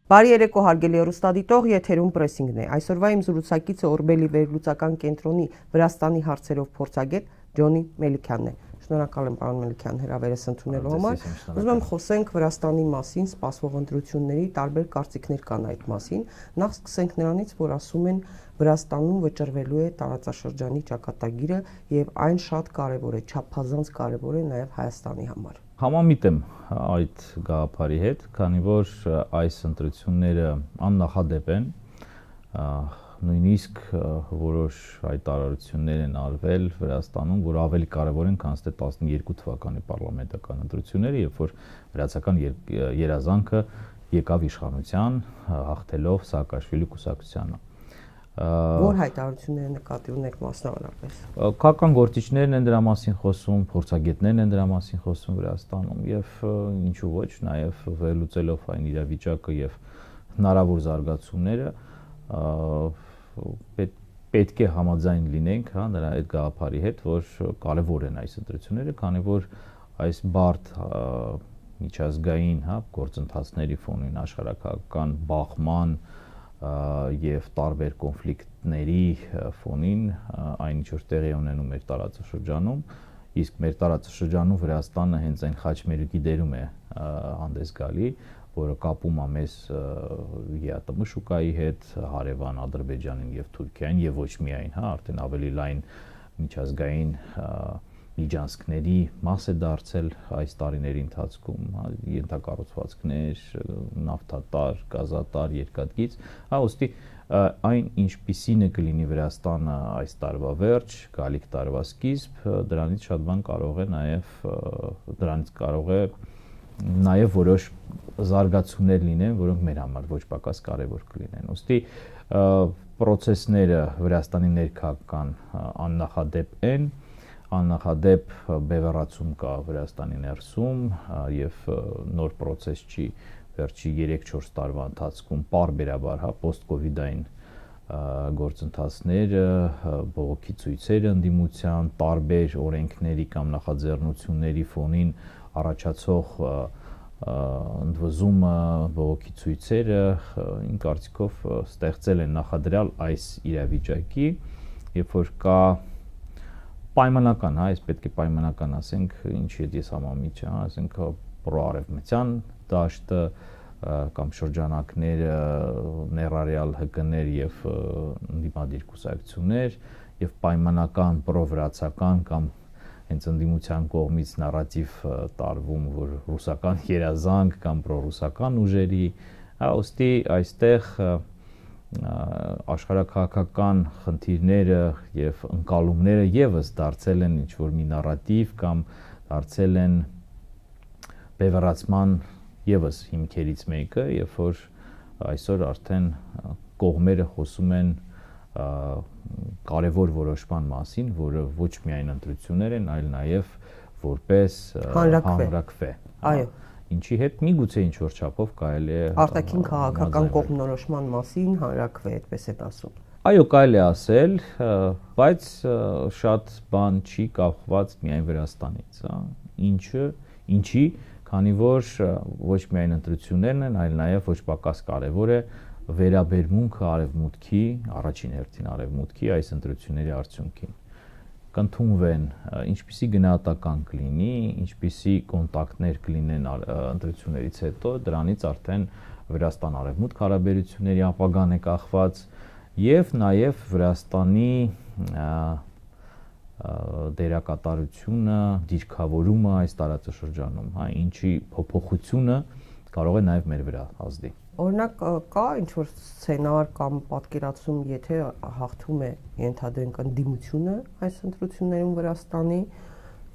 Բարի երեկո հարգելի հեռուստադիտող, եթերում պրեսինգն է։ Այսօրվա իմ զրուցակիցը Օրբելի վերլուծական կենտրոնի Վրաստանի հարցերով փորձագետ Ջոնի Մելիքյանն է։ Շնորհակալ եմ պարոն Մելիքյան հրավերս ընդունելու համար։ Ուզում եմ խոսենք Վրաստանի մասին, սպասվող ընտրությունների տարբեր կարծիքներ կան այդ մասին։ Նախ սկսենք նրանից, որ ասում են Վրաստանում վճռվելու է տարածաշրջանի ճակատագիրը եւ այն շատ կարեւոր է, չափազանց կարեւոր է նաեւ Հայաստանի համար։ Համամիտ եմ այդ գաղափարի հետ, քանի որ այս ընտրությունները աննախադեպ են, նույնիսկ որոշ հայտարարություններ են արվել Վրաստանում, որ ավելի կարևոր են, քան թե 12 թվականի պարլամենտական ընտրությունները, երբ որ վրացական երազանքը եկավ իշխանության, հաղթելով Սաակաշվիլի կուսակցությանը։ Որ հայտարարությունները նկատի ունեք մասնավորապես։ Քաղաքական գործիչներն են դրա մասին խոսում, փորձագետներն են դրա մասին խոսում Վրաստանում եւ ինչու ոչ, նաեւ վերլուծելով այն իրավիճակը եւ հնարավոր զարգացումները պետք է համաձայն լինենք, հա, նրա այդ գաղափարի հետ, որ կարեւոր են այս ընտրությունները, քանի որ այս բարդ միջազգային, հա, գործընթացների ֆոնին աշխարհակական բախման եւ տարբեր կոնֆլիկտների ֆոնին այն ինչ որ տեղի ունենում մեր տարածաշրջանում, իսկ մեր տարածաշրջանում Վրաստանը հենց այն խաչմերուկի դերում է հանդես գալի, որը կապում է մեզ ԵԱՏՄ շուկայի հետ, հարևան Ադրբեջանին եւ Թուրքիային եւ ոչ միայն, հա, արդեն ավելի լայն միջազգային միջանցքների մաս է դարձել այս տարիների ընթացքում, ենթակառուցվածքներ, նավթատար, գազատար, երկաթգիծ, հա, ուստի այն ինչպիսին է կլինի Վրաստանը այս տարվա վերջ, գալիք տարվա սկիզբ, դրանից շատ բան կարող է նաև որոշ զարգացումներ լինեն, որոնք մեր համար ոչ պակաս կարևոր կլինեն։ Ուստի պրոցեսները Վրաստանի ներքաղաքական աննախադեպ են, աննախադեպ բևեռացում կա Վրաստանի ներսում եւ նոր պրոցես չի վերջի 3-4 տարվա ընթացքում պարբերաբար, հա, post-COVID-ային գործընթացները, բողոքի ցույցերը ընդդիմության, տարբեր օրենքների կամ նախաձեռնությունների ֆոնին առաջացող ընդվզումը, բողոքի ցույցերը, իմ կարծիքով ստեղծել են նախադրյալ այս իրավիճակի, երբ որ կա պայմանական, հա, այս պետք է պայմանական ասենք, ինչի հետ ես համամիջ եմ, ասենք պրոարևմտյան դաշտը կամ շրջանակները, ներառյալ ՀԿ-ներ եւ ընդդիմադիր կուսակցություններ եւ պայմանական պրովրացական կամ հենց ընդդիմության կողմից նարատիվ տարվում, որ ռուսական երազանք կամ պրոռուսական ուժերի, հա, ուստի այստեղ աշխարհակաղակական խնդիրները եւ ընկալումները եւս դարձել են ինչ որ մի նարատիվ կամ դարձել են բևեռացման եւս հիմքերից մեկը, երբ որ այսօր արդեն կողմերը խոսում են կարևոր որոշման մասին, որը ոչ միայն ընտրություններ են, այլ նաեւ որպես հանրաքվե։ Այո, ինչի հետ միգուցե ինչ որ չափով կարելի է արտաքին քաղաքական կողմնորոշման մասին հանրաքվե, այդպես է ասում։ Այո, կարելի է ասել, բայց շատ բան չի կախված միայն Վրաստանից, հա։ Ինչի, քանի որ ոչ միայն ընտրություններն են, այլ նաեւ ոչ պակաս կարեւոր է վերաբերմունքը արևմուտքի, առաջին հերթին արևմուտքի այս ընտրությունների արդյունքին։ Կընդունվեն, ինչպիսի գնահատական կլինի, ինչպիսի կոնտակտներ կլինեն ընտրություններից հետո, դրանից արդեն Վրաստան-արևմուտք հարաբերությունների ապագան է կախված եւ նաեւ Վրաստանի դերակատարությունը, դիրքավորումը այս տարածաշրջանում, հա, ինչի փոփոխությունը կարող է նաեւ մեր վրա ազդի։ Օրինակ կա ինչ-որ սցենար կամ պատկերացում, եթե հաղթում է ենթադրենք ընդդիմությունը այս ընտրություններում Վրաստանի,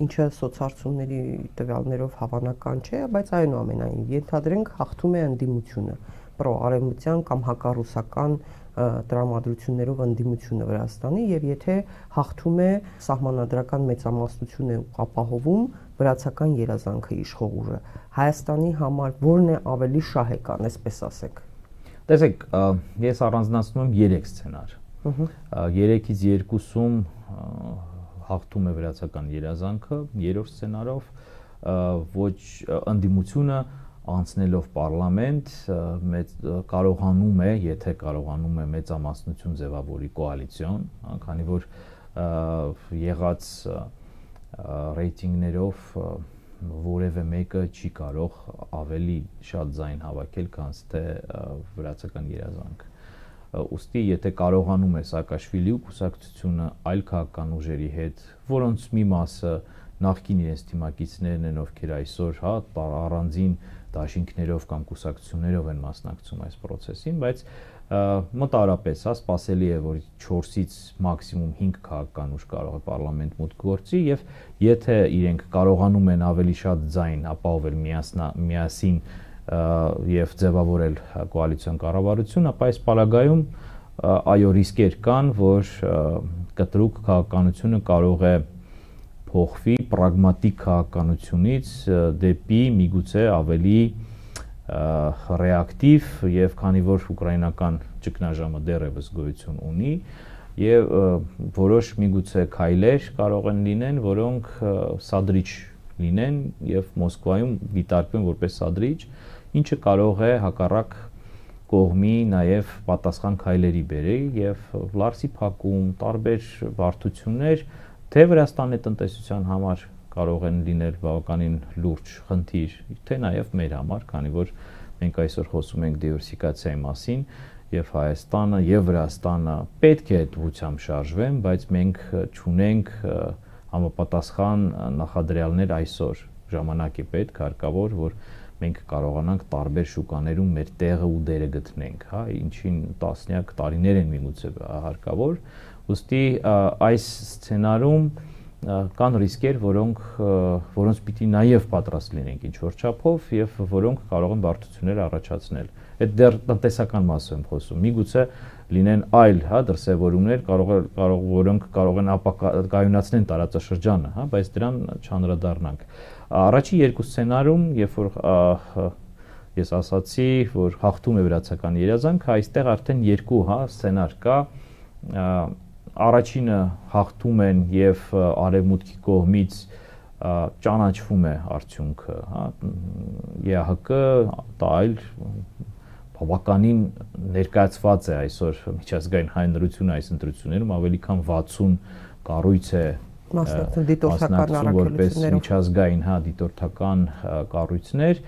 ինչը սոցհարցումների տվյալներով հավանական չէ, բայց այնուամենայնիվ ենթադրենք հաղթում է ընդդիմությունը, պրոարևմտյան կամ հակառուսական տրամադրություններով ընդդիմությունը Վրաստանի եւ եթե հաղթում է սահմանադրական մեծամասնություն է ապահովում վրացական երազանքը իշխող ուժը, Հայաստանի համար որն է ավելի շահեկան, այսպես ասենք։ Տեսեք, ես առանձնացնում եմ 3 սցենար։ 3-ից 2-ում հաղթում է վրացական երազանքը, 3-րդ սցենարով ոչ ընդդիմությունը անցնելով պարլամենտ կարողանում է, եթե կարողանում է մեծամասնություն ձևավորի կոալիցիոն, քանի որ եղած ռեյտինգներով որևէ մեկը չի կարող ավելի շատ ձայն հավաքել, քան թե վրացական երազանք։ Ուստի եթե կարողանում է Սաակաշվիլի կուսակցությունը այլ քաղաքական ուժերի հետ, որոնց մի մասը նախկին իրենց թիմակիցներն են, ովքեր այսօր առանձին դաշինքներով կամ կուսակցություններով են մասնակցում այս process-ին, բայց մոտարապես սպասելի է, որ 4-ից մաքսիմում 5 քաղաքական ուժ կարող է պարլամենտ մուտք գործի եւ եթե իրենք կարողանում են ավելի շատ ձայն ապահովել միասին եւ ձևավորել կոալիցիոն կառավարություն, ապա այս պարագայում այո ռիսկեր կան, որ կտրուկ քաղաքականությունը կարող է փոխվի պրագմատիկ քաղաքականությունից դեպի միգուցե ավելի ռեակտիվ եւ քանի որ ուկրաինական ճգնաժամը դեռևս գոյություն ունի եւ որոշ միգուցե քայլեր կարող են լինեն, որոնք սադրիչ լինեն եւ Մոսկվայում դիտարկվեն որպես սադրիչ, ինչը կարող է հակառակ կողմի նաեւ պատասխան քայլերի բերի եւ լարսի փակում, տարբեր բարդություններ թե Վրաստանի տնտեսության համար կարող են լինել բավականին լուրջ խնդիր, թե նաև մեր համար, քանի որ մենք այսօր խոսում ենք դիվերսիֆիկացիայի մասին եւ Հայաստանը եւ Վրաստանը պետք է ուղղությամբ շարժվեն, բայց մենք չունենք համապատասխան նախադրյալներ այսօր։ Ժամանակ է պետք, հարկավոր, որ մենք կարողանանք տարբեր շուկաներում մեր տեղը ու դերը գտնենք, հա, ինչին տասնյակ տարիներ են միգուցե հարկավոր։ Ուստի այս սցենարում կան ռիսկեր, որոնց պիտի նաև պատրաստ լինենք ինչ-որ չափով եւ որոնք կարող են բարդություններ առաջացնել։ Այդ դեռ տնտեսական մասով եմ խոսում։ Միգուցե լինեն այլ, դրսևորումներ, որոնք կարող են ապակայունացնեն տարածաշրջանը, բայց դրան չանդրադառնանք։ Առաջի երկու սցենարում, երբ որ ես ասացի, որ հաղթում է վրացական երազանքը, այստեղ արդեն երկու, սցենար կա։ Առաջինը հաղթում են եւ արևմուտքի կողմից ճանաչվում է արդյունքը, ԵԱՀԿ այլ բավականին ներկայացված է այսօր միջազգային հայտնություն այս ընտրություններում ավելի քան 60 կառույց է մասնակցում որպես միջազգային դիտորդական կառույցներ,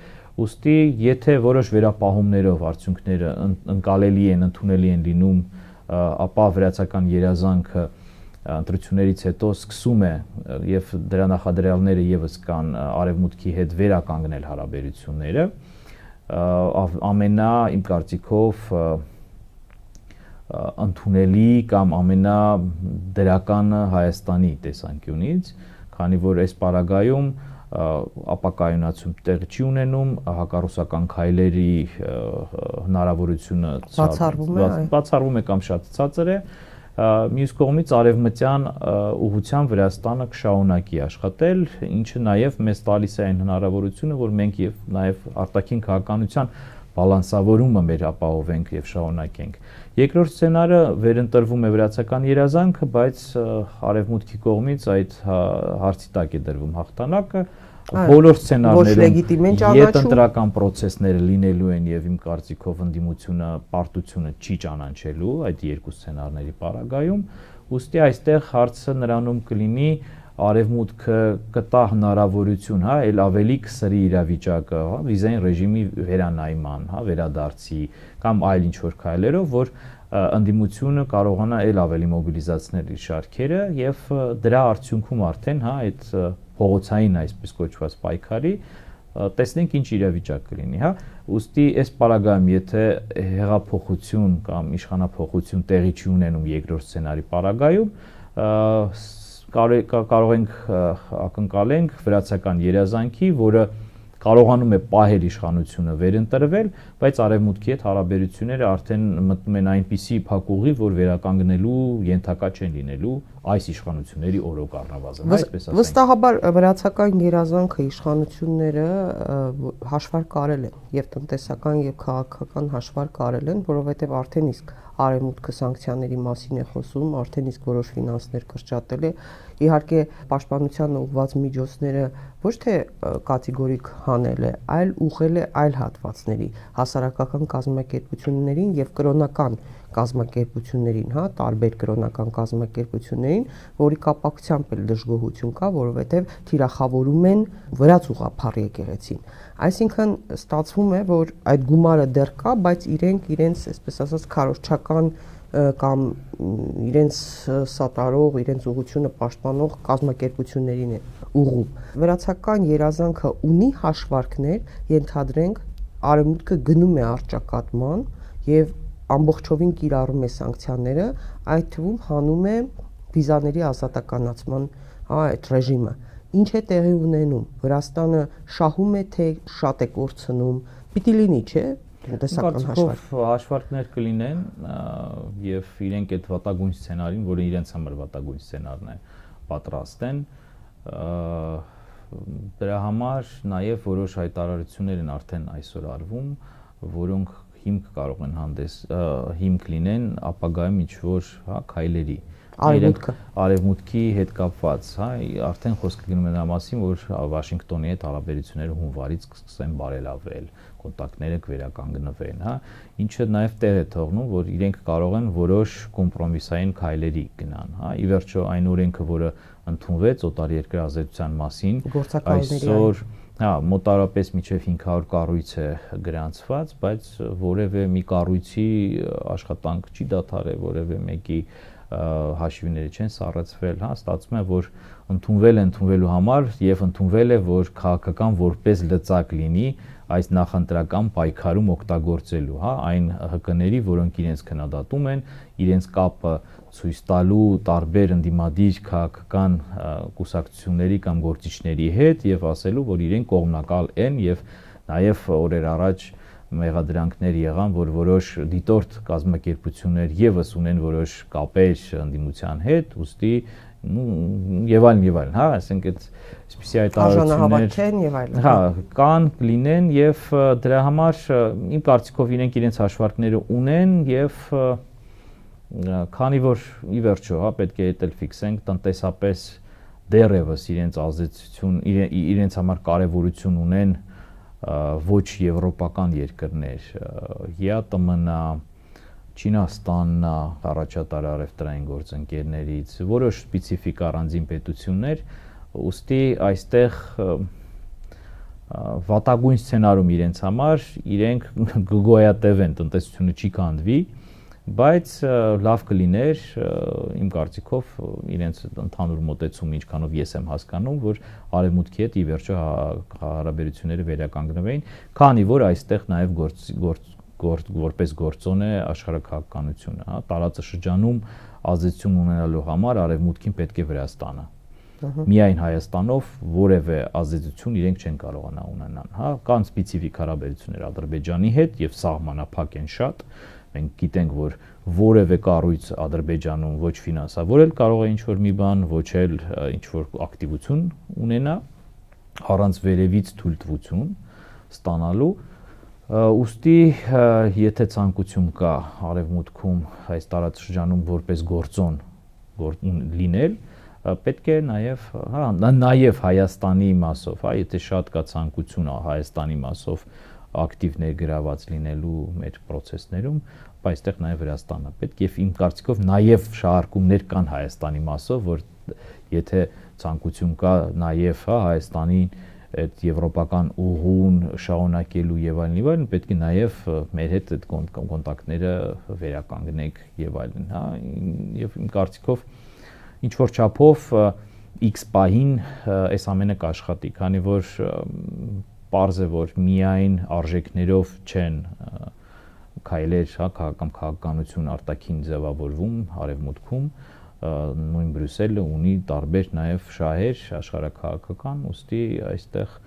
ուստի եթե որոշ վերապահումներով արդյունքները ընկալելի են, ընդունելի են լինում, ապա վրացական երազանքը ընտրություններից հետո սկսում է եւ դրա նախադրյալները եւս կան արևմուտքի հետ վերականգնել հարաբերությունները իմ կարծիքով ընդունելի կամ ամենադրականը Հայաստանի տեսանկյունից, քանի որ այս պարագայում ապակայունացում տեղի չի ունենում, հակառուսական քայլերի հնարավորությունը բացառվում է կամ շատ ցածր է, մյուս կողմից արևմտյան ուղղությամբ Վրաստանը կշարունակի աշխատել, ինչը նաև մեզ տալիս է այն հնարավորությունը, որ մենք եւ նաև արտաքին քաղաքականության բալանսավորումը մեր ապահովենք եւ շարունակենք։ Երկրորդ սցենարը վերընտրվում է վրացական երազանքը, բայց արևմուտքի կողմից այդ հարցի տակ է դրվում հաղթանակը։ Բոլոր սցենարներում յետընտրական process-ները լինելու են եւ իմ կարծիքով ընդդիմությունը պարտությունը չի ճանաչելու այդ երկու սցենարների պարագայում, ուստի այստեղ հարցը նրանում կլինի արևմուտքը կտա հնարավորություն, այլ ավելի կսրի իրավիճակը, վիզային ռեժիմի վերանայման, վերադարձի կամ այլ ինչ-որ քայլերով, որ ընդդիմությունը կարողանա այլ ավելի մոբիլիզացնել իր շարքերը եւ դրա արդյունքում արդեն այդ փողոցային այսպես կոչված պայքարի տեսնենք ինչ իրավիճակ կլինի, ուստի այս պարագայում եթե հեղափոխություն կամ իշխանափոխություն տեղի չի ունենում երկրորդ սցենարի պարագայում, կարող ենք ակնկալենք վրացական երազանքի, որը կարողանում է պահել իշխանությունը վերընտրվել, բայց արևմուտքի հետ հարաբերությունները արդեն մտնում են այնպիսի փակուղի, որ վերականգնելու ենթակա չեն լինելու այս իշխանությունների օրոք առնվազն, այսպես ասենք։ Վստահաբար վրացական երազանքը իշխանությունները հաշվար կարել են եւ տնտեսական եւ քաղաքական հաշվար կարել են, որովհետեւ արդեն իսկ արևմուտքը սանկցիաների մասին է խոսում, արդեն իսկ որոշ ֆինանսներ կրճատել է։ Իհարկե, պաշտպանության ուղղված միջոցները ոչ թե կատեգորիկ հանել է, այլ ուղղել է այլ հատվածների, հասարակական կազմակերպություններին եւ կրոնական կազմակերպություններին, տարբեր կրոնական կազմակերպություններին, որի կապակցությամբ էլ դժգոհություն կա, որովհետեւ թիրախավորում են վրաց ուղղափառ եկեղեցին։ Այսինքն ստացվում է, որ այդ գումարը դեռ կա, բայց իրենց, այսպես ասած, քարոզչական կամ իրենց սատարող, իրենց ուղղությունը պաշտպանող կազմակերպություններին է ուղղում։ Վրացական երազանքը ունի հաշվարկներ, ենթադրենք, արևմուտքը գնում է առճակատման եւ ամբողջովին կիրառում է սանկցիաները, այդ թվում հանում է վիզաների ազատականացման այդ ռեժիմը։ Ինչ է տեղի ունենում։ Վրաստանը շահում է, թե շատ է կորցնում։ Պիտի լինի, չէ՞, տնտեսական հաշվարկներ կլինեն եւ իրենք այդ վատագույն սցենարին, որը իրենց համար վատագույն սցենարն է, պատրաստ են։ Դրա համար նաեւ որոշ հայտարարություններ են արդեն այսօր արվում, որոնք հիմք կարող են հիմք լինեն ապագայում ինչ-որ քայլերի արևմուտքի հետ կապված, արդեն խոսքը գնում է նրա մասին, որ Վաշինգտոնի հետ հարաբերությունները հունվարից կսկսեն բարելավել, կոնտակտները կվերականգնվեն, ինչը նաև տեղ է թողնում, որ իրենք կարող են որոշ կոմպրոմիսային քայլերի գնան, ի վերջո այն օրենքը, որը ընդունվեց օտարերկրյա ազդեցության մասին, այսօր մոտարապես մինչև 500 կառույց է գրանցված, բայց որևէ մի կառույցի աշխատանք չի դադարել, որևէ մեկի հաշիվները չեն սառեցվել, ստացվում է, որ ընդունվելու համար եւ ընդունվել է, որ քաղաքական որպես լծակ լինի այս նախընտրական պայքարում օգտագործելու, այն ՀԿ-ների, որոնք իրենց քննադատում են, իրենց կապը ցույց տալու տարբեր ընդդիմադիր քաղաքական կուսակցությունների կամ գործիչների հետ եւ ասելու, որ իրենք կողմնակալ են եւ նաեւ օրեր առաջ մեղադրանքներ եղան, որ որոշ դիտորդ կազմակերպություններ եւս ունեն որոշ կապեր ընդդիմության հետ, ուստի եւ այլն, ասենք այդ այսպիսի հայտարարություններ կան, կլինեն եւ դրա համար իմ կարծիքով իրենց հաշվարկները ունեն եւ քանի որ ի վերջո, պետք է էլ ֆիքսենք տնտեսապես դեռևս իրենց ազդեցություն, իրենց համար կարեւորություն ունեն ոչ եվրոպական երկրներ, ԵԱՏՄ-ն, Չինաստանն, առաջատար առևտրային գործընկերներից, որոշ սպეციფიկ առանձին պետություններ, ուստի այստեղ վատագույն սցենարում իրենց համար իրենք գոյատևեն, տնտեսությունը չի քանդվի, բայց լավ կլիներ իմ կարծիքով իրենց ընդհանուր մոտեցումը ինչքանով ես եմ հասկանում, որ արևմուտքի հետ ի վերջո հարաբերությունները վերականգնվեին, քանի որ այստեղ նաև որպես գործոն է աշխարհաքաղաքականությունը, տարածաշրջանում ազդեցություն ունենալու համար արևմուտքին պետք է Վրաստանը։ Միայն Հայաստանով որևէ ազդեցություն իրենք չեն կարողանա ունենալ, կան սպეციფიկ հարաբերություններ Ադրբեջանի հետ եւ սահմանափակ են շատ։ Մենք գիտենք, որ որևէ կառույց Ադրբեջանում ոչ ֆինանսավորել կարող է ինչ-որ մի բան, ոչ էլ ինչ-որ ակտիվություն ունենա, առանց վերևից թույլտվություն ստանալու, ուստի եթե ցանկություն կա արևմուտքում այս տարածաշրջանում որպես գործոն լինել, պետք է նաև Հայաստանի մասով, եթե շատ կա ցանկություն Հայաստանի մասով ակտիվ ներգրաված լինելու մեր process-ներում, բայց այստեղ նաև Վրաստանը պետք է իմ կարծիքով նաև շահարկումներ կան Հայաստանի մասով, որ եթե ցանկություն կա նաև Հայաստանին այդ եվրոպական ուղուն շարունակելու եւ այլն, պետք է նաև մեր հետ այդ կոնտակտները վերականգնենք եւ այլն, եւ իմ կարծիքով ինչ որ չափով X պահին այս ամենը կաշխատի, քանի որ պարզ է, որ միայն արժեքներով չեն քայլեր, կամ քաղաքականություն արտաքին ձևավորվում արևմուտքում, նույն Բրյուսելը ունի տարբեր նաև շահեր աշխարհաքաղաքական, ուստի այստեղ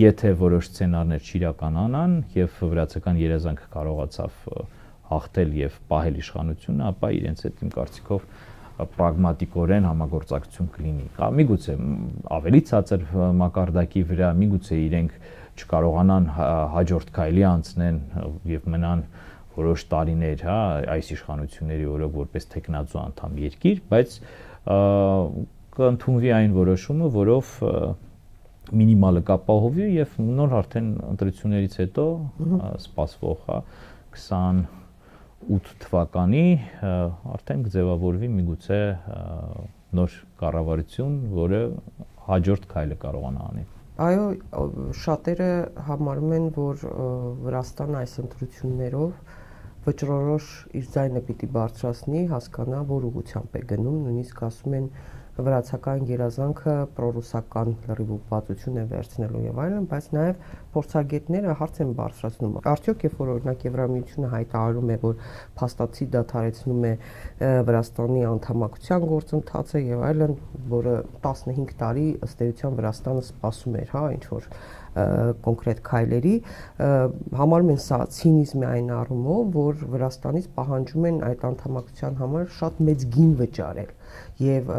եթե որոշ սցենարներ չիրականանան եւ վրացական երազանքը կարողացավ հաղթել եւ պահել իշխանությունը, ապա իրենց հետ իմ կարծիքով պրագմատիկորեն համագործակցություն կլինի։ Միգուցե ավելի ցածր մակարդակի վրա, միգուցե իրենք չկարողանան հաջորդ քայլի անցնեն եւ մնան որոշ տարիներ, հա, այս իշխանությունների օրոք որպես տեխնացու անդամ երկիր, բայց կընդունվի այն որոշումը, որով մինիմալը կապահովի եւ նոր արդեն ընտրություններից հետո սպասվող, հա, 28 թվականի արդեն կձևավորվի միգուցե նոր կառավարություն, որը հաջորդ քայլը կարողանա անել։ Այո, շատերը համարում են, որ Վրաստանը այս ընտրություններով վճռորոշ իր ձայնը պիտի բարձրացնի, հասկանա, որ ուղղությամբ է գնում, նույնիսկ ասում են վրացական երազանքը պրոռուսական լրիվ ու բացություն է վերցնելու եւ այլն, բայց նաեւ փորձագետները հարց են բարձրացնում. Արդյոք երբ որ օրինակ Եվրամիությունը հայտարարում է, որ փաստացի դադարեցնում է Վրաստանի անդամակցության գործընթացը եւ այլն, որը 15 տարի ըստ էության Վրաստանը սպասում էր, հա, ինչ որ կոնկրետ քայլերի, համարում են սա ցինիզմ է այն առումով, որ Վրաստանից պահանջում են այդ անդամակցության համար շատ մեծ գին վճարել եւ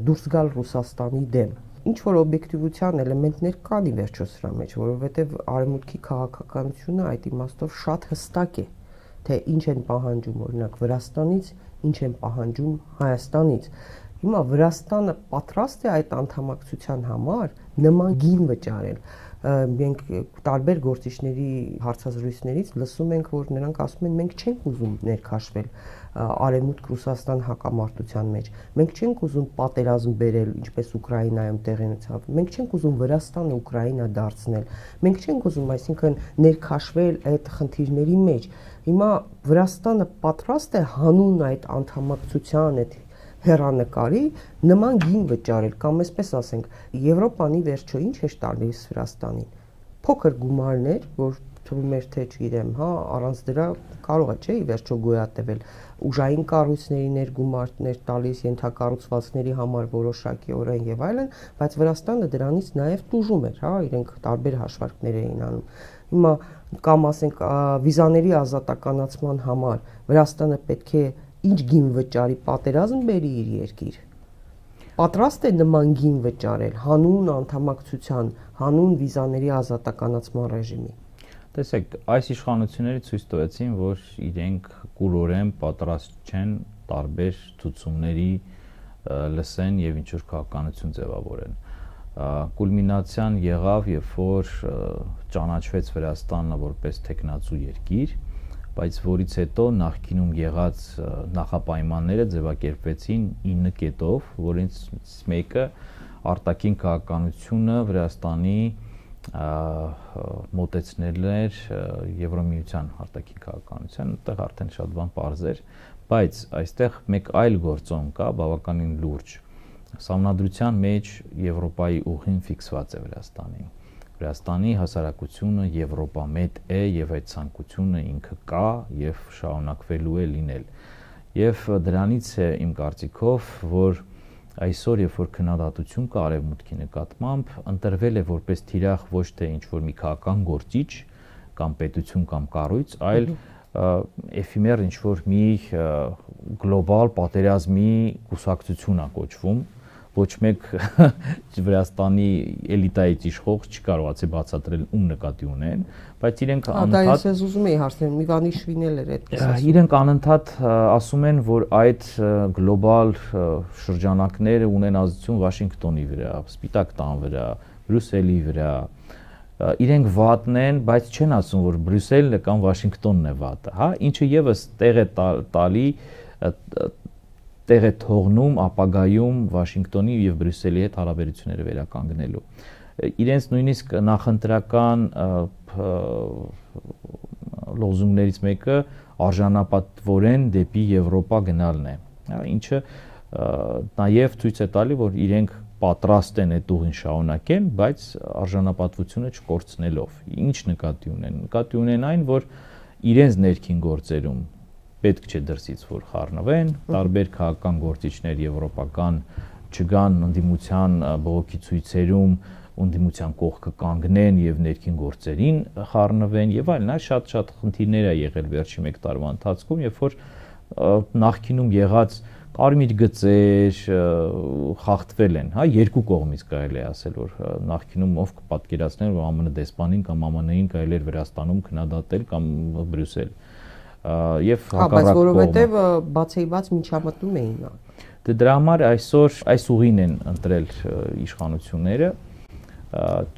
դուրս գալ Ռուսաստանի դեմ։ Ինչ որ օբյեկտիվության էլեմենտներ կան ի վերջո սրա մեջ, որովհետեւ արևմուտքի քաղաքականությունը այդ իմաստով շատ հստակ է, թե ինչ են պահանջում օրինակ Վրաստանից, ինչ են պահանջում Հայաստանից։ Հիմա Վրաստանը պատրաստ է այդ անդամակցության համար նման գին վճարել։ Մենք տարբեր գործիչների հարցազրույցներից լսում ենք, որ նրանք ասում են, մենք չենք ուզում ներքաշվել Արևմուտք Ռուսաստան հակամարտության մեջ։ Մենք չենք ուզում պատերազմ բերել, ինչպես Ուկրաինայում տեղի ունեցավ։ Մենք չենք ուզում Վրաստանը Ուկրաինա դարձնել։ Մենք չենք ուզում, այսինքն, ներքաշվել այդ խնդիրների մեջ։ Հիմա Վրաստանը պատրաստ է հանուն այդ անդամակցության այդ հեռանկարի նման գին վճարել, կամ այսպես ասենք, Եվրոպան ի վերջո ինչ է տալիս Վրաստանին։ Փոքր գումարներ, որ թվում էր թե չգիտեմ, հա, առանց դրա կարող է, չէ, ի վերջո գոյատևել, ուժային կառույցների ներգումարներ տալիս, ենթակառուցվածքների համար որոշակիորեն եւ այլն, բայց Վրաստանը դրանից նաեւ տուժում էր, հա, իրենք տարբեր հաշվարկներ էին անում։ Հիմա կամ ասենք վիզաների ազատականացման համար Վրաստանը պետք է ինչ գին վճարի, պատերազմ բերի իր երկիր։ Պատրաստ է նման գին վճարել հանուն անդամակցության, հանուն վիզաների ազատականացման ռեժիմի։ Տեսեք, այս իշխանությունները ցույց տվեցին, որ իրենք կուրորեն պատրաստ չեն տարբեր ցուցումների լսեն եւ ինչ որ քաղաքականություն ձևավորեն։ Կուլմինացիան եղավ, երբ որ ճանաչվեց Վրաստանը որպես տեխնացու երկիր, բայց որից հետո նախկինում եղած նախապայմանները ձևակերպվեցին 9 կետով, որից մեկը արտաքին քաղաքականությունը Վրաստանի մոտեցնել էր Եվրամիության արտաքին քաղաքականության, այդտեղ արդեն շատ բան պարզ էր, բայց այստեղ մեկ այլ գործոն կա, բավականին լուրջ։ Սահմանադրության մեջ Եվրոպայի ուղին ֆիքսված է Վրաստանին։ Վրաստանի հասարակությունը եվրոպամետ է եւ այդ ցանկությունը ինքը կա եւ շարունակվելու է լինել։ Եվ դրանից է իմ կարծիքով, որ այսօր երբ որ քննադատություն կա արևմուտքի նկատմամբ, ընտրվել է որպես թիրախ ոչ թե ինչ որ մի քաղաքական գործիչ կամ պետություն կամ կառույց, այլ էֆիմեր ինչ որ մի գլոբալ պատերազմի կուսակցություն է կոչվում, ոչ մեկ Վրաստանի էլիտայից իշխող չկարողացի բացատրել ում նկատի ունեն, բայց իրենք անընդհատ դա ես ուզում էի հարցնել, Միվանիշվիլին էլ էր այդպես ասում։ Իրենք անընդհատ ասում են, որ այդ գլոբալ շրջանակները ունեն ազդեցություն Վաշինգտոնի վրա, Սպիտակ տան վրա, Բրյուսելի վրա։ Իրենք վատն են, բայց չեն ասում, որ Բրյուսելն կամ Վաշինգտոնն է վատը, հա, ինչը եւս տեղ է տալի տեղ է թողնում ապագայում Վաշինգտոնի եւ Բրյուսելի հետ հարաբերությունները վերականգնելու։ Իրենց նույնիսկ նախընտրական լոզունգներից մեկը արժանապատվորեն դեպի Եվրոպա գնալն է, ինչը նաեւ ցույց է տալի, որ իրենք պատրաստ են այդ ուղին շարունակեն, բայց արժանապատվությունը չկորցնելով։ Ինչ նկատի ունեն։ Նկատի ունեն այն, որ իրենց ներքին գործերում պետք չէ դրսից որ խառնվեն, տարբեր քաղաքական գործիչներ եվրոպական չգան ընդդիմության բողոքի ցույցերում, ընդդիմության կողքը կանգնեն եւ ներքին գործերին խառնվեն եւ այլն, շատ խնդիրներ ա եղել վերջի 1 տարվա ընթացքում, երբ որ նախկինում եղած կարմիր գծեր խախտվել են, հա, երկու կողմից կարելի է ասել, որ նախկինում ով կպատկերացներ, որ ԱՄՆ դեսպանին կամ ԱՄՆ-ին կարելի էր Վրաստանում քննադատել կամ Բրյուսել։ եւ հակառակ կողմը։ Որովհետեւ բացեիված միջամտում էին։ Դրա համար այսօր այս ուղին են ընտրել իշխանությունները,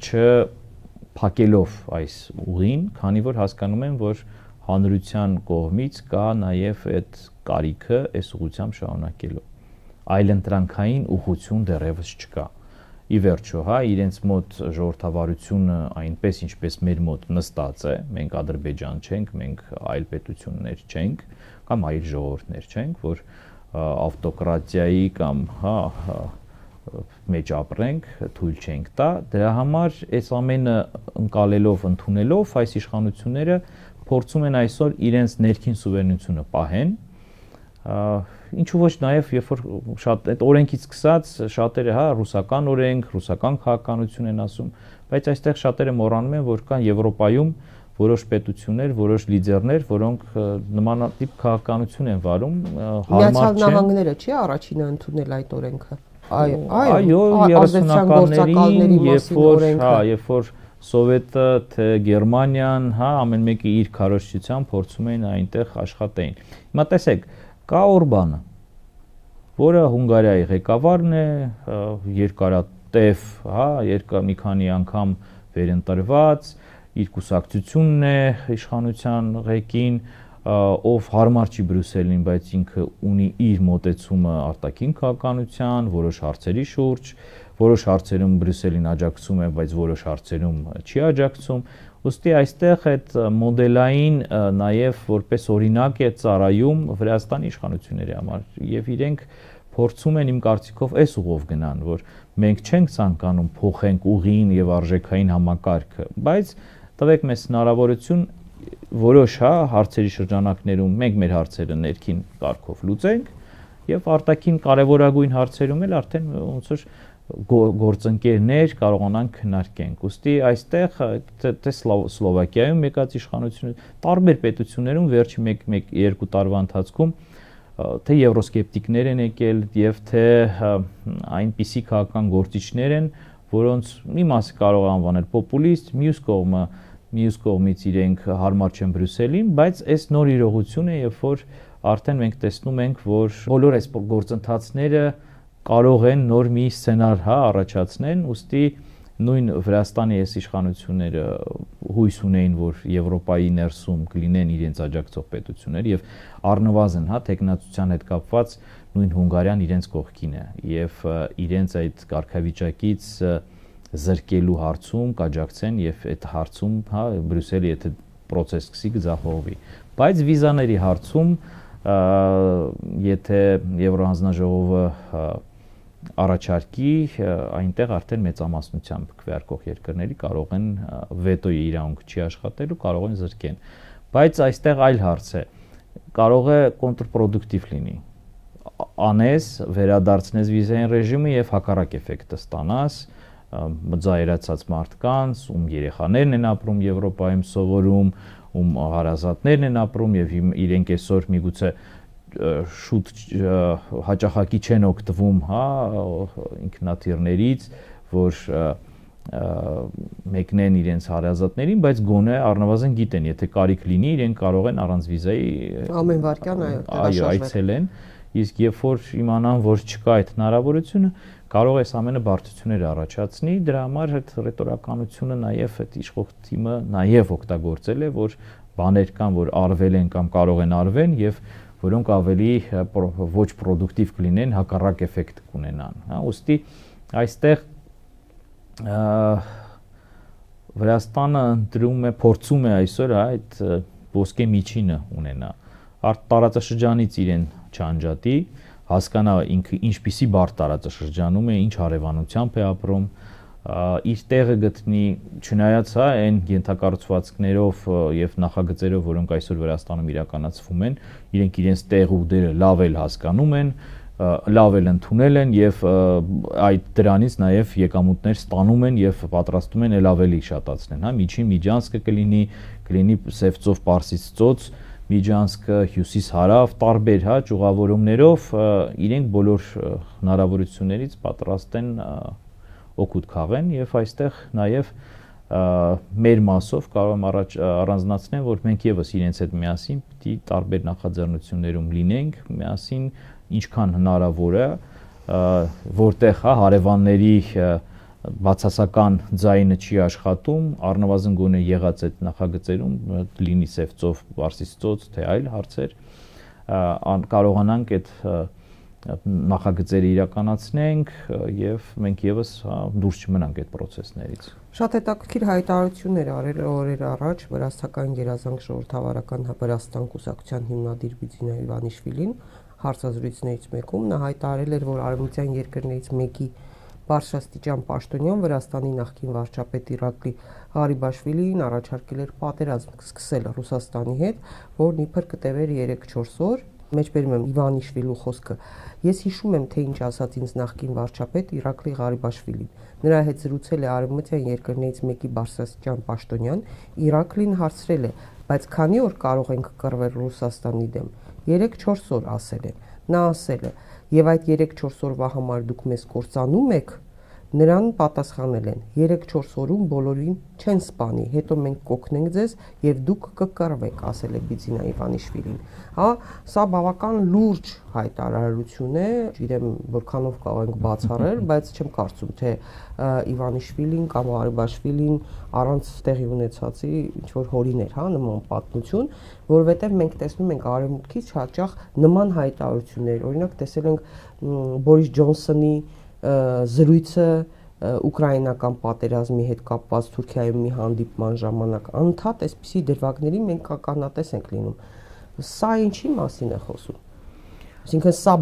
չփակելով այս ուղին, քանի որ հասկանում են, որ հանրության կողմից կա նաև այդ կարիքը այս ուղղությամբ շարունակելու։ Այլընտրանքային ուղղություն դեռևս չկա։ Ի վերջո, իրենց մոտ ժողովրդավարությունը այնպես ինչպես մեր մոտ նստած է, մենք Ադրբեջան չենք, մենք այլ պետություններ չենք, կամ այլ ժողովուրդներ չենք, որ ավտոկրատիայի կամ մեջ ապրենք, թույլ չենք տա, դրա համար այս ամենը ընկալելով, ընդունելով այս իշխանությունները փորձում են այսօր իրենց ներքին սուվերենությունը պահեն, ինչու ոչ նաև երբ որ շատ այդ օրենքից սկսած շատերը ռուսական օրենք, ռուսական քաղաքականություն են ասում, բայց այստեղ շատերը մոռանում են, որ կան Եվրոպայում որոշ պետություններ, որոշ լիդերներ, որոնք նմանատիպ քաղաքականություն են վարում, Միացյալ Նահանգները չի առաջինը ընդունել այդ օրենքը։ Այո, 30-ականներին, երբ որ Սովետը, թե Գերմանիան, ամեն մեկը իր քարոզչությամբ փորձում էին այնտեղ աշխատեին։ Հիմա տեսեք, կա Օրբանը, որը Հունգարիայի ղեկավարն է, երկարատև, մի քանի անգամ վերընտրված, իր կուսակցությունն է իշխանության ղեկին, ով հարմար չի Բրյուսելին, բայց ինքը ունի իր մոտեցումը արտաքին քաղաքականության, որոշ հարցերի շուրջ, որոշ հարցերում Բրյուսելին աջակցում է, բայց որոշ հարցերում չի աջակցում։ Ուստի այստեղ այդ մոդելային նաև որպես օրինակ է ծառայում Վրաստանի իշխանությունների համար եւ իրենք փորձում են իմ կարծիքով այս ուղով գնան, որ մենք չենք ցանկանում փոխենք ուղին եւ արժեքային համակարգը, բայց տվեք մեզ հնարավորություն որոշ հարցերի շրջանակներում մենք մեր հարցերը ներքին կարգով լուծենք եւ արտաքին կարեւորագույն հարցերում էլ արդեն ոնց որ գործընկերներ կարողանանք քննարկենք։ Ոստի այստեղ թե Սլովակիայում եկած իշխանությունը տարբեր պետություններում վերջի 1-2 տարվա ընթացքում թե եվրոսկեպտիկներ են եկել եւ թե այնպիսի քաղաքական գործիչներ են, որոնց մի մասը կարող է անվանել պոպուլիստ, մյուս կողմից իրենք հարմար չեն Բրյուսելին, բայց այս նոր իրողություն է, երբ որ արդեն մենք տեսնում ենք, որ բոլոր այս գործընթացները կարող են նոր մի սցենար առաջացնեն, ուստի նույն Վրաստանի այս իշխանությունները հույս ունեին, որ Եվրոպայի ներսում կլինեն իրենց աջակցող պետություններ եւ առնվազն տեխնացության հետ կապված նույն Հունգարիան իրենց կողքին է եւ իրենց այդ կարգավիճակից զրկելու հարցում կաջակցեն եւ այդ հարցում Բրյուսելը եթե process սկսի կձախողվի, բայց վիզաների հարցում եթե Եվրոհանձնաժողովը առաջարկի, այնտեղ արդեն մեծամասնությամբ քվեարկող երկրների կարող են վետոյի իրավունք չի աշխատելու, կարող են զրկեն։ Բայց այստեղ այլ հարց է։ Կարող է կոնտրպրոդուկտիվ լինի։ Անես, վերադարձնես վիզային ռեժիմը եւ հակառակ էֆեկտը ստանաս, մձայրացած մարդկանց, ում երեխաներն են ապրում Եվրոպայում սովորում, ում հարազատներն են ապրում եւ իրենք այսօր միգուցե շուտ հաճախակի չեն օգտվում ինքնաթիռներից, որ մեկնեն իրենց հարազատներին, բայց գոնե առնվազն գիտեն, եթե կարիք լինի, իրենք կարող են առանց վիզայի ամեն վայրկյան այցելեն, իսկ երբ որ իմանան, որ չկա այդ հնարավորությունը, կարող է այս ամենը բարդություններ առաջացնի, դրա համար այդ ռետորականությունը նաև այդ իշխող թիմը նաև օգտագործել է, որ բաներ կան, որ արվել են կամ կարող են արվեն եւ որոնք ավելի ոչ պրոդուկտիվ կլինեն, հակառակ էֆեկտ կունենան, ուստի այստեղ Վրաստանը ընտրում է, փորձում է այսօր այդ ոսկե միջինը ունենա, տարածաշրջանից իրեն չանջատի, հասկանա ինքը ինչպիսի բարդ տարածաշրջանում է, ինչ հարևանությամբ է ապրում, իր տեղը գտնի, չնայած այն ենթակառուցվածքներով եւ նախագծերով, որոնք այսօր Վրաստանում իրականացվում են, իրենք իրենց տեղը ու դերը լավ էլ հասկանում են, լավ էլ ընդունել են եւ այդ դրանից նաեւ եկամուտներ ստանում են եւ պատրաստում են ել ավելի շատացնեն, միջին միջանցքը կլինի Սևծով Պարսից ծոց, Միջանցքը հյուսիս-հարավ տարբեր ճյուղավորումներով իրենք բոլոր հնարավորություններից պատրաստ են օգուտ քաղեն եւ այստեղ նաեւ մեր մասով կարող եմ առանձնացնել, որ մենք եւս իրենց հետ միասին պիտի տարբեր նախաձեռնություններում լինենք, միասին ինչքան հնարավոր է, որտեղ հարևանների բացասական ձայնը չի աշխատում, առնվազն գոնե եղած այդ նախագծերում լինի Սևծով, Վարսից ծոց, թե այլ հարցեր, կարողանանք այդ նախագծերը իրականացնենք եւ մենք եւս դուրս չմնանք այդ process-ներից։ Շատ հետաքրքիր հայտարարություններ արել օրեր առաջ Վրաստական գերազանց ժողովրդավարական Վրաստան կուսակցության հիմնադիր Բիձինա Իվանիշվիլին հարցազրույցներից մեկում նա հայտարարել էր, որ արևմտյան երկրներից մեկի բարձրաստիճան պաշտոնյան Վրաստանի նախկին վարչապետ Իրակլի Ղարիբաշվիլին առաջարկել էր պատերազմ սկսել Ռուսաստանի հետ, որն իբր կտևեր 3-4 օր։ Մեջբերում եմ Իվանիշվիլու խոսքը։ Ես հիշում եմ, թե ինչ ասաց ինձ նախկին վարչապետ Իրակլի Ղարիբաշվիլին։ Նրա հետ զրուցել է արևմտյան երկրներից մեկի բարձրաստիճան պաշտոնյան, Իրակլին հարցրել է, բայց քանի օր կարող ենք կռվել Ռուսաստանի դեմ։ 3-4 օր ասել են։ Նա ասել է, եւ այդ 3-4 օրվա համար դուք մեզ կործանում եք, նրան պատասխանել են 3-4 օրում բոլորին չեն սպանի, հետո մենք կօգնենք ձեզ եւ դուք կկռվեք, ասել է Բիձինա Իվանիշվիլին։ Հա, սա բավական լուրջ հայտարարություն է, չգիտեմ որքանով կարող ենք բացառել, բայց չեմ կարծում, թե Իվանիշվիլին կամ Ղարիբաշվիլին առանց տեղի ունեցածի ինչ որ հորիներ, հա, նման պատմություն, որովհետեւ մենք տեսնում ենք արևմուտքից հաճախ նման հայտարարություններ, օրինակ տեսել ենք Բորիս Ջոնսոնի զրույցը ուկրաինական պատերազմի հետ կապված Թուրքիայում մի հանդիպման ժամանակ անդադ այսպիսի դրվագների մենք ականատես ենք լինում։ Սա ինչի մասին է խոսում։ Այսինքն սա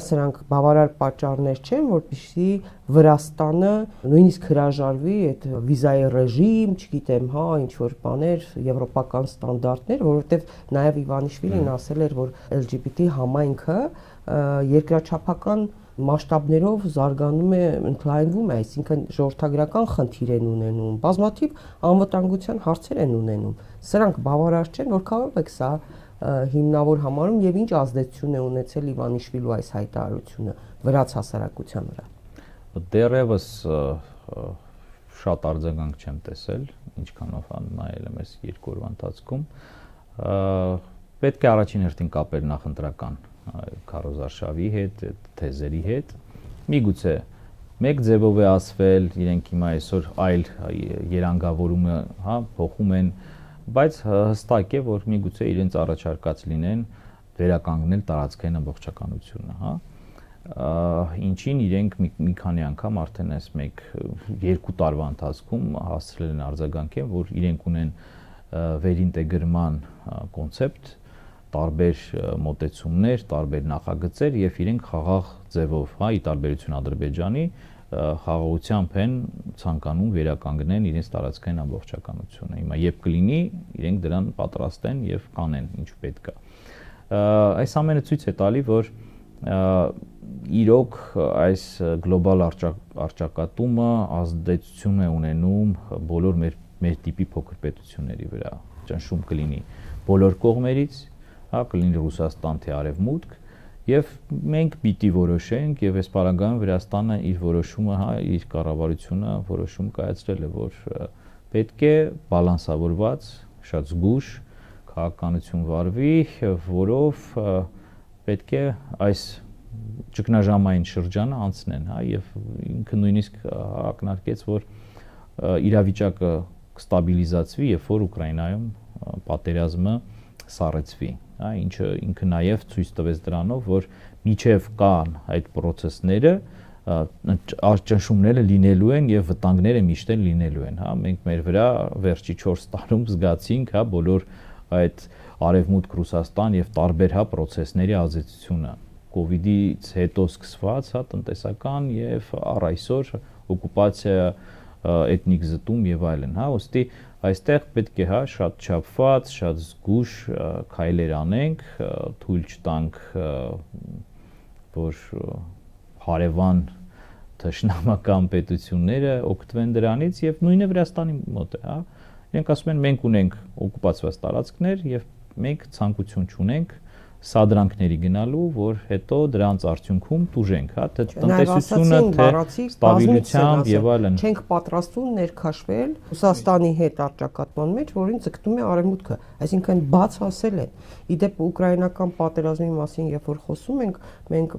սրանք բավարար պատճառներ չեն, որպեսզի Վրաստանը նույնիսկ հրաժարվի այդ վիզայի ռեժիմ, չգիտեմ, հա, ինչ որ բաներ, եվրոպական ստանդարտներ, որովհետև նաև Իվանիշվիլին ասել էր, որ LGBT համայնքը երկրաչափական մասշտաբներով զարգանում է, ընդլայնվում է, այսինքն ժողովրդագրական խնդիր են ունենում, բազմաթիվ անվտանգության հարցեր են ունենում։ Սրանք բավարար չեն, որքանով եք սա հիմնավոր համարում եւ ինչ ազդեցություն է ունեցել Իվանիշվիլու այս հայտարարությունը վրաց հասարակության վրա։ Դեռևս շատ արձագանք չեմ տեսել, ինչքանով նայել եմ այս 2 օրվա ընթացքում։ Պետք է առաջին հերթին կապել նախընտրական քարոզարշավի հետ, թեզերի հետ։ Միգուցե մեկ ձևով է ասվել, իրենք հիմա այսօր այլ երանգավորումը, հա, փոխում են, բայց հստակ է, որ միգուցե իրենց առաջարկած լինեն վերականգնել տարածքային ամբողջականությունը, հա։ Ինչին իրենք մի քանի անգամ արդեն այս 1-2 տարվա ընթացքում հասցրել են արձագանքել, որ իրենք ունեն վերինտեգրման կոնցեպտ, տարբեր մոտեցումներ, տարբեր նախագծեր եւ իրենք խաղաղ ձևով, հա, ի տարբերություն Ադրբեջանի, խաղաղությամբ են ցանկանում վերականգնեն իրենց տարածքային ամբողջականությունը։ Հիմա երբ կլինի, իրենք դրան պատրաստ են եւ կանեն ինչ պետք է։ Այս ամենը ցույց է տալի, որ իրոք այս գլոբալ առճակատումը ազդեցություն է ունենում բոլոր մեր տիպի փոքր պետությունների վրա։ Ճնշում կլինի բոլոր կողմերից, հա, կլինի Ռուսաստան թե Արևմուտք, եւ մենք պիտի որոշենք եւ այս պարագայում Վրաստանը իր որոշումը, հա, իր կառավարությունը որոշում կայացրել է, որ պետք է բալանսավորված, շատ զգուշ քաղաքականություն վարվի, որով պետք է այս ճգնաժամային շրջանը անցնեն, հա, եւ ինքը նույնիսկ ակնարկեց, որ իրավիճակը կստաբիլիզացվի, երբ որ Ուկրաինայում պատերազմը սառեցվի, հա, ինչը ինքը նաև ցույց տվեց դրանով, որ միջև կան այդ process-ները, ճնշումները լինելու են եւ վտանգները միշտ լինելու են, հա, մենք մեր վրա վերջի 4 տարում զգացինք, հա, բոլոր այդ Արևմուտք, Ռուսաստան եւ տարբեր, հա, process-ների ազդեցությունը, COVID-ից հետո սկսված, հա, տնտեսական եւ առ այսօր օկուպացիա, էթնիկ զտում եւ այլն, հա, ուստի այստեղ պետք է, հա, շատ չափված, շատ զգուշ քայլեր անենք, թույլ չտանք, որ հարևան թշնամական պետությունները օգտվեն դրանից եւ նույնը Վրաստանի մոտ է, հա։ Իրենք ասում են մենք ունենք օկուպացված տարածքներ եւ մենք ցանկություն չունենք սադրանքների գնալու, որ հետո դրանց արդյունքում տուժենք, հա, թե տնտեսությունը, թե ստաբիլությամբ եւ այլն։ Չենք պատրաստվում ներքաշվել Ռուսաստանի հետ առճակատման մեջ, որին ձգտում է արևմուտքը, այսինքն բաց ասել են։ Իդեպ ուկրաինական պատերազմի մասին երբ որ խոսում ենք, մենք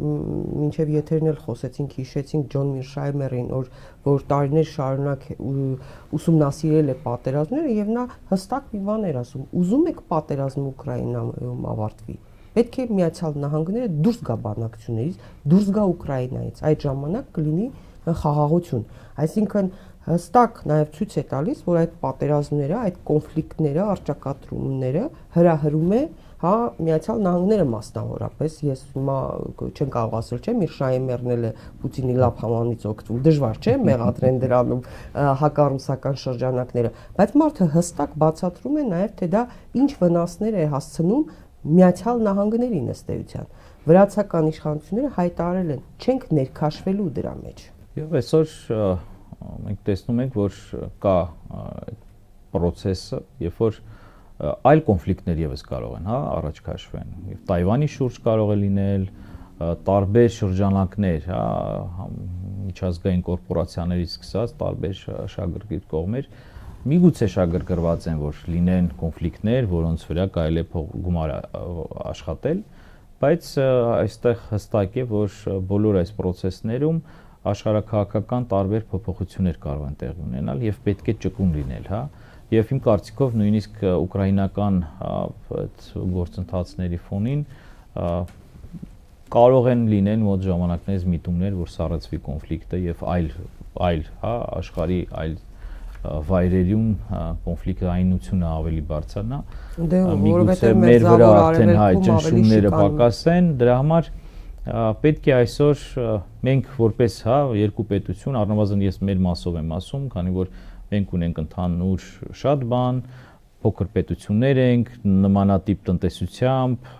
մինչև եթերն էլ խոսեցինք, հիշեցինք Ջոն Միրշայմերին, որ տարիներ շարունակ ուսումնասիրել է պատերազմները եւ նա հստակ մի բան էր ասում. ուզում եք պատերազմը Ուկրաինայում ավարտվի, պետք է Միացյալ Նահանգները դուրս գա բանակցություններից, դուրս գա Ուկրաինայից, այդ ժամանակ կլինի խաղաղություն։ Այսինքն հստակ նաև ցույց է տալիս, որ այդ պատերազմները, այդ կոնֆլիկտները, առճակատումները հրահրում է, հա, Միացյալ Նահանգները մասնավորապես, ես հիմա չեմ կարող ասել, չէ՞, Միրշայմերն էլ է Պուտինի լավ համանից օգտվում, դժվար չէ մեղադրեն դրանում հակառուսական շրջանակները, բայց մարդը հստակ բացատրում է նաև, թե դա ինչ վնասներ է հասցնում Միացյալ Նահանգներին ըստ էության։ Վրացական իշխանությունները հայտարարել են, չենք ներքաշվելու դրա մեջ։ Եվ այսօր մենք տեսնում ենք, որ կա պրոցեսը, երբ որ այլ կոնֆլիկտներ եւս կարող են, հա, առաջ քաշվեն։ Եվ Թայվանի շուրջ կարող է լինել տարբեր շրջանակներ, հա, միջազգային կորպորացիաներից սկսած տարբեր շահագրգիռ կողմեր միգուցե շահագրգռված են, որ լինեն կոնֆլիկտներ, որոնց վրա կարելի է գումար աշխատել, բայց այստեղ հստակ է, որ բոլոր այս process-ներում աշխարհաքաղաքական տարբեր փոփոխություններ կարող են տեղի ունենալ եւ պետք է ճկուն լինել, հա։ Եվ իմ կարծիքով նույնիսկ ուկրաինական այդ գործընթացների ֆոնին կարող են լինել մոտ ժամանակներից միտումներ, որ սառեցվի կոնֆլիկտը եւ այլ, հա, աշխարհի այլ վայրերում կոնֆլիկտայինությունը ավելի բարձրանա, միգուցե մեր վրա արդեն հայ ճնշումները պակասեն, դրա համար պետք է այսօր մենք որպես, հա, երկու պետություն, առնվազն ես մեր մասով եմ ասում, քանի որ մենք ունենք ընդհանուր շատ բան, փոքր պետություններ ենք, նմանատիպ տնտեսությամբ,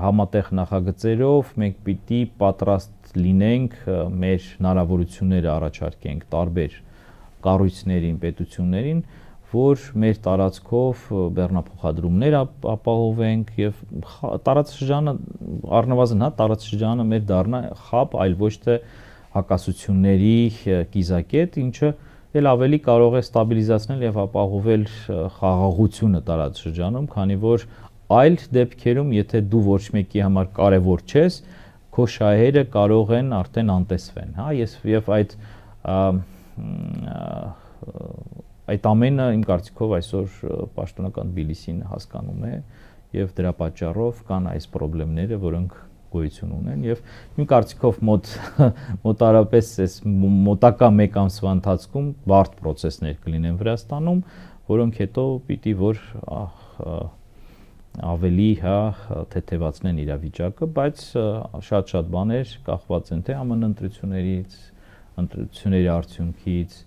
համատեղ նախագծերով մենք պիտի պատրաստ լինենք մեր հնարավորությունները առաջարկենք տարբեր կառույցներին, պետություններին, որ մեր տարածքով բեռնափոխադրումներ ապահովենք եւ տարածաշրջանը առնվազն, հա, տարածաշրջանը մեր դառնա խապ, այլ ոչ թե հակասությունների կիզակետ, ինչը էլ ավելի կարող է ստաբիլիզացնել եւ ապահովել խաղաղությունը տարածաշրջանում, քանի որ այլ դեպքերում, եթե դու ոչ մեկի համար կարևոր չես, քո շահերը կարող են արդեն անտեսվեն, հա, եւ այդ ամենը իմ կարծիքով այսօր պաշտոնական Թբիլիսին հասկանում է եւ դրա պատճառով կան այս խնդիրները, որոնք գոյություն ունեն եւ իմ կարծիքով մոտարապես այս մոտակա 1 ամսվա ընթացքում բարդ process-ներ կլինեն Վրաստանում, որոնք հետո պիտի որ ավելի, հա, թեթևացնեն իրավիճակը, բայց շատ բաներ կախված են թե ԱՄՆ ընտրություններից, ընտրությունների արդյունքից,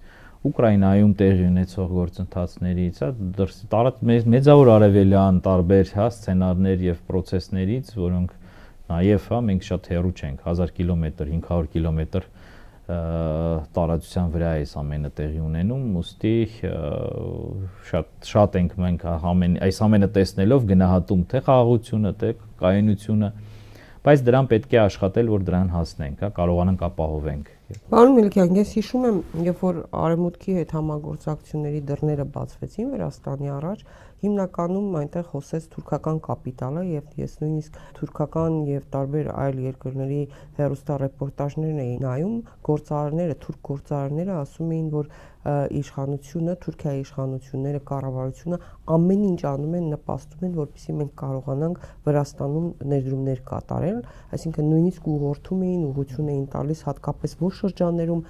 Ուկրաինայում տեղի ունեցող գործընթացներից, հա, մեծավոր արևելյան տարբեր, հա, սցենարներ եւ process-ներից, որոնք նաեւ, հա, մենք շատ հեռու չենք, 1000 կիլոմետր, 500 կիլոմետր տարածության վրա է ամենը տեղի ունենում, ուստի շատ ենք մենք այս ամենը տեսնելով գնահատում թե խաղաղությունը, թե կայունությունը, բայց դրան պետք է աշխատել, որ դրան հասնենք, հա, կարողանանք ապահովենք։ Պարոն Մելիքյան, ես հիշում եմ, երբ որ արևմուտքի հետ համագործակցությունների դռները բացվեցին Վրաստանի առաջ, հիմնականում այնտեղ խոսեց թուրքական կապիտալը եւ ես նույնիսկ թուրքական եւ տարբեր այլ երկրների հեռուստառեպորտաժներն էի նայում, գործարարները, թուրք գործարարները ասում էին, որ իշխանությունը, Թուրքիայի իշխանությունները, կառավարությունը ամեն ինչ անում են, նպաստում են, որպեսզի մենք կարողանանք Վրաստանում ներդրումներ կատարել, այսինքն նույնիսկ ուղղորդում էին, ուղղություն էին տալիս հատկապես որ շրջաններում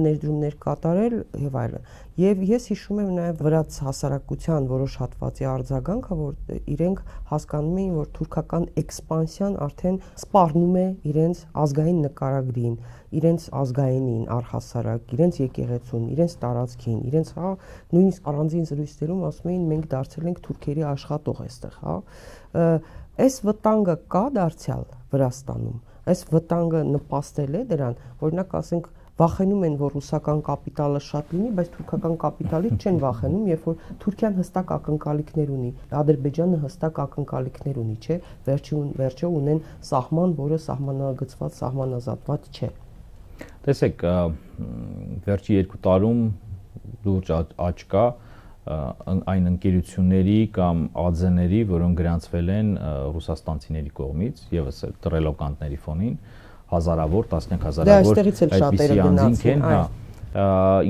ներդրումներ կատարել եւ այլն։ Եվ ես հիշում եմ նաեւ վրաց հասարակության որոշ հատվածի արձագանքը, որ իրենք հասկանում էին, որ թուրքական էքսպանսիան արդեն սպառնում է իրենց ազգային նկարագրին, իրենց ազգայինին առհասարակ, իրենց եկեղեցուն, իրենց տարածքին, իրենց, հա, նույնիսկ առանձին զրույցներում ասում էին մենք դարձել ենք թուրքերի աշխատող այստեղ, հա։ Այս վտանգը կա դարձյալ Վրաստանում։ Այս վտանգը նպաստել է դրան, օրինակ ասենք վախենում են, որ ռուսական կապիտալը շատ լինի, բայց թուրքական կապիտալից չեն վախենում, երբ որ Թուրքիան հստակ ակնկալիքներ ունի, Ադրբեջանը հստակ ակնկալիքներ ունի, չէ, վերջը ունեն սահման, որը սահմանագծված, սահմանազատված չէ։ Տեսեք, վերջի 2 տարում լուրջ աճ կա այն ընկերությունների կամ ԱԶ-ների, որոնք գրանցվել են ռուսաստանցիների կողմից, եւս ռելոկանտների ֆոնին, հազարավոր, տասնյակ հազարավոր այդպիսի անձինք են,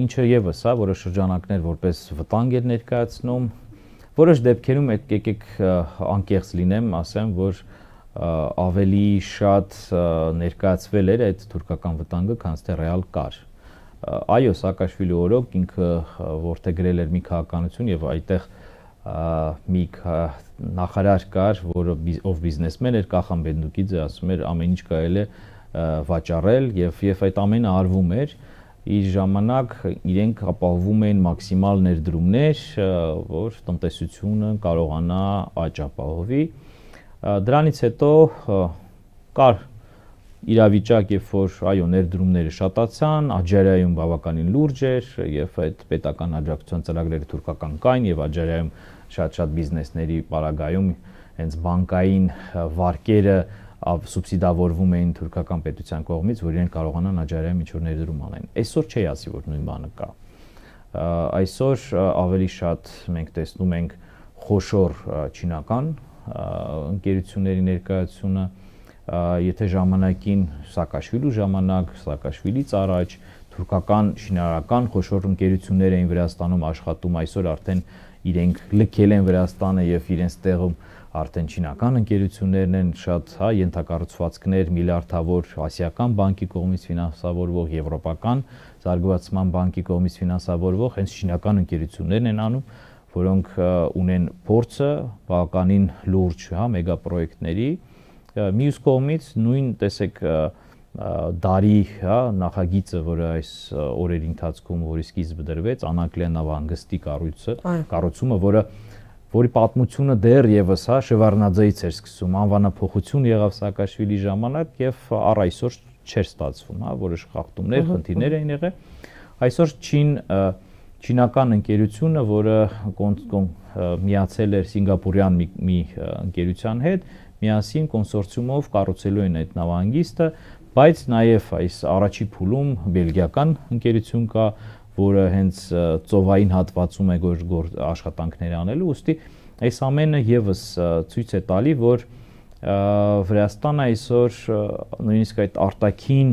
ինչը եւս, որոշ շրջանակներ որպես վտանգ էր ներկայացնում, որոշ դեպքերում եկեք անկեղծ լինեմ, ասեմ, որ ավելի շատ ներկայացվել էր այդ թուրքական վտանգը, քան թե ռեալ կար։ Այո, Սաակաշվիլի օրոք ինքը որդեգրել էր մի քաղաքականություն եւ այդտեղ մի նախարար կար, ով բիզնեսմեն էր, Կախան Բենդուկիձը, ասում էր ամեն ինչ կարելի է վաճառել եւ այդ ամենը արվում էր։ Իր ժամանակ իրենք ապահովում էին մաքսիմալ ներդրումներ, որ տնտեսությունը կարողանա աճ ապահովի։ Դրանից հետո կար իրավիճակ, երբ որ այո ներդրումները շատացան, Աջարիայում բավականին լուրջ էր եւ այդ պետական աջակցության ծրագրերը թուրքական կային եւ Աջարիայում շատ բիզնեսների պարագայում հենց բանկային վարկերը սուբսիդավորվում էին թուրքական պետության կողմից, որ իրենք կարողանան Աջարիայում ինչ-որ ներդրում անեն։ Այսօր չի ասի, որ նույն բանը կա։ Այսօր ավելի շատ մենք տեսնում ենք խոշոր չինական ընկերությունների ներկայացումը, եթե ժամանակին Սաակաշվիլու ժամանակ, Սաակաշվիլից առաջ թուրքական շինարարական խոշոր ընկերություններ էին Վրաստանում աշխատում, այսօր արդեն իրենք լքել են Վրաստանը եւ իրենց տեղում արդեն չինական ընկերություններն են, շատ ենթակառուցվածքներ, միլիարդավոր ասիական բանկի կողմից ֆինանսավորվող, եվրոպական զարգացման բանկի կողմից ֆինանսավորվող հենց չինական ընկերություններն են անում, որոնք ունեն փորձը բավականին լուրջ, մեգապրոյեկտների։ Մյուս կողմից նույն տեսեք դարի նախագիծը, որը այս օրերի ընթացքում որի սկիզբը դրվեց, Անակլիա նավահանգստի կառուցումը, որի պատմությունը դեռ եւս Շևարդնաձեից էր սկսում, անվանափոխություն եղավ Սաակաշվիլի ժամանակ եւ առ այսօր չէր ստացվում, որոշ խախտումներ, խնդիրներ էին եղել։ Այսօր չինական ընկերությունը, որը միացել էր սինգապուրյան մի ընկերության հետ, միասին կոնսորցիումով կառուցելու են այդ նավահանգիստը, բայց նաև այս առաջի փուլում բելգիական ընկերություն կա, որը հենց ծովային հատվածում է աշխատանքներ անելու, ուստի այս ամենը եւս ցույց է տալի, որ Վրաստանը այսօր նույնիսկ այդ արտաքին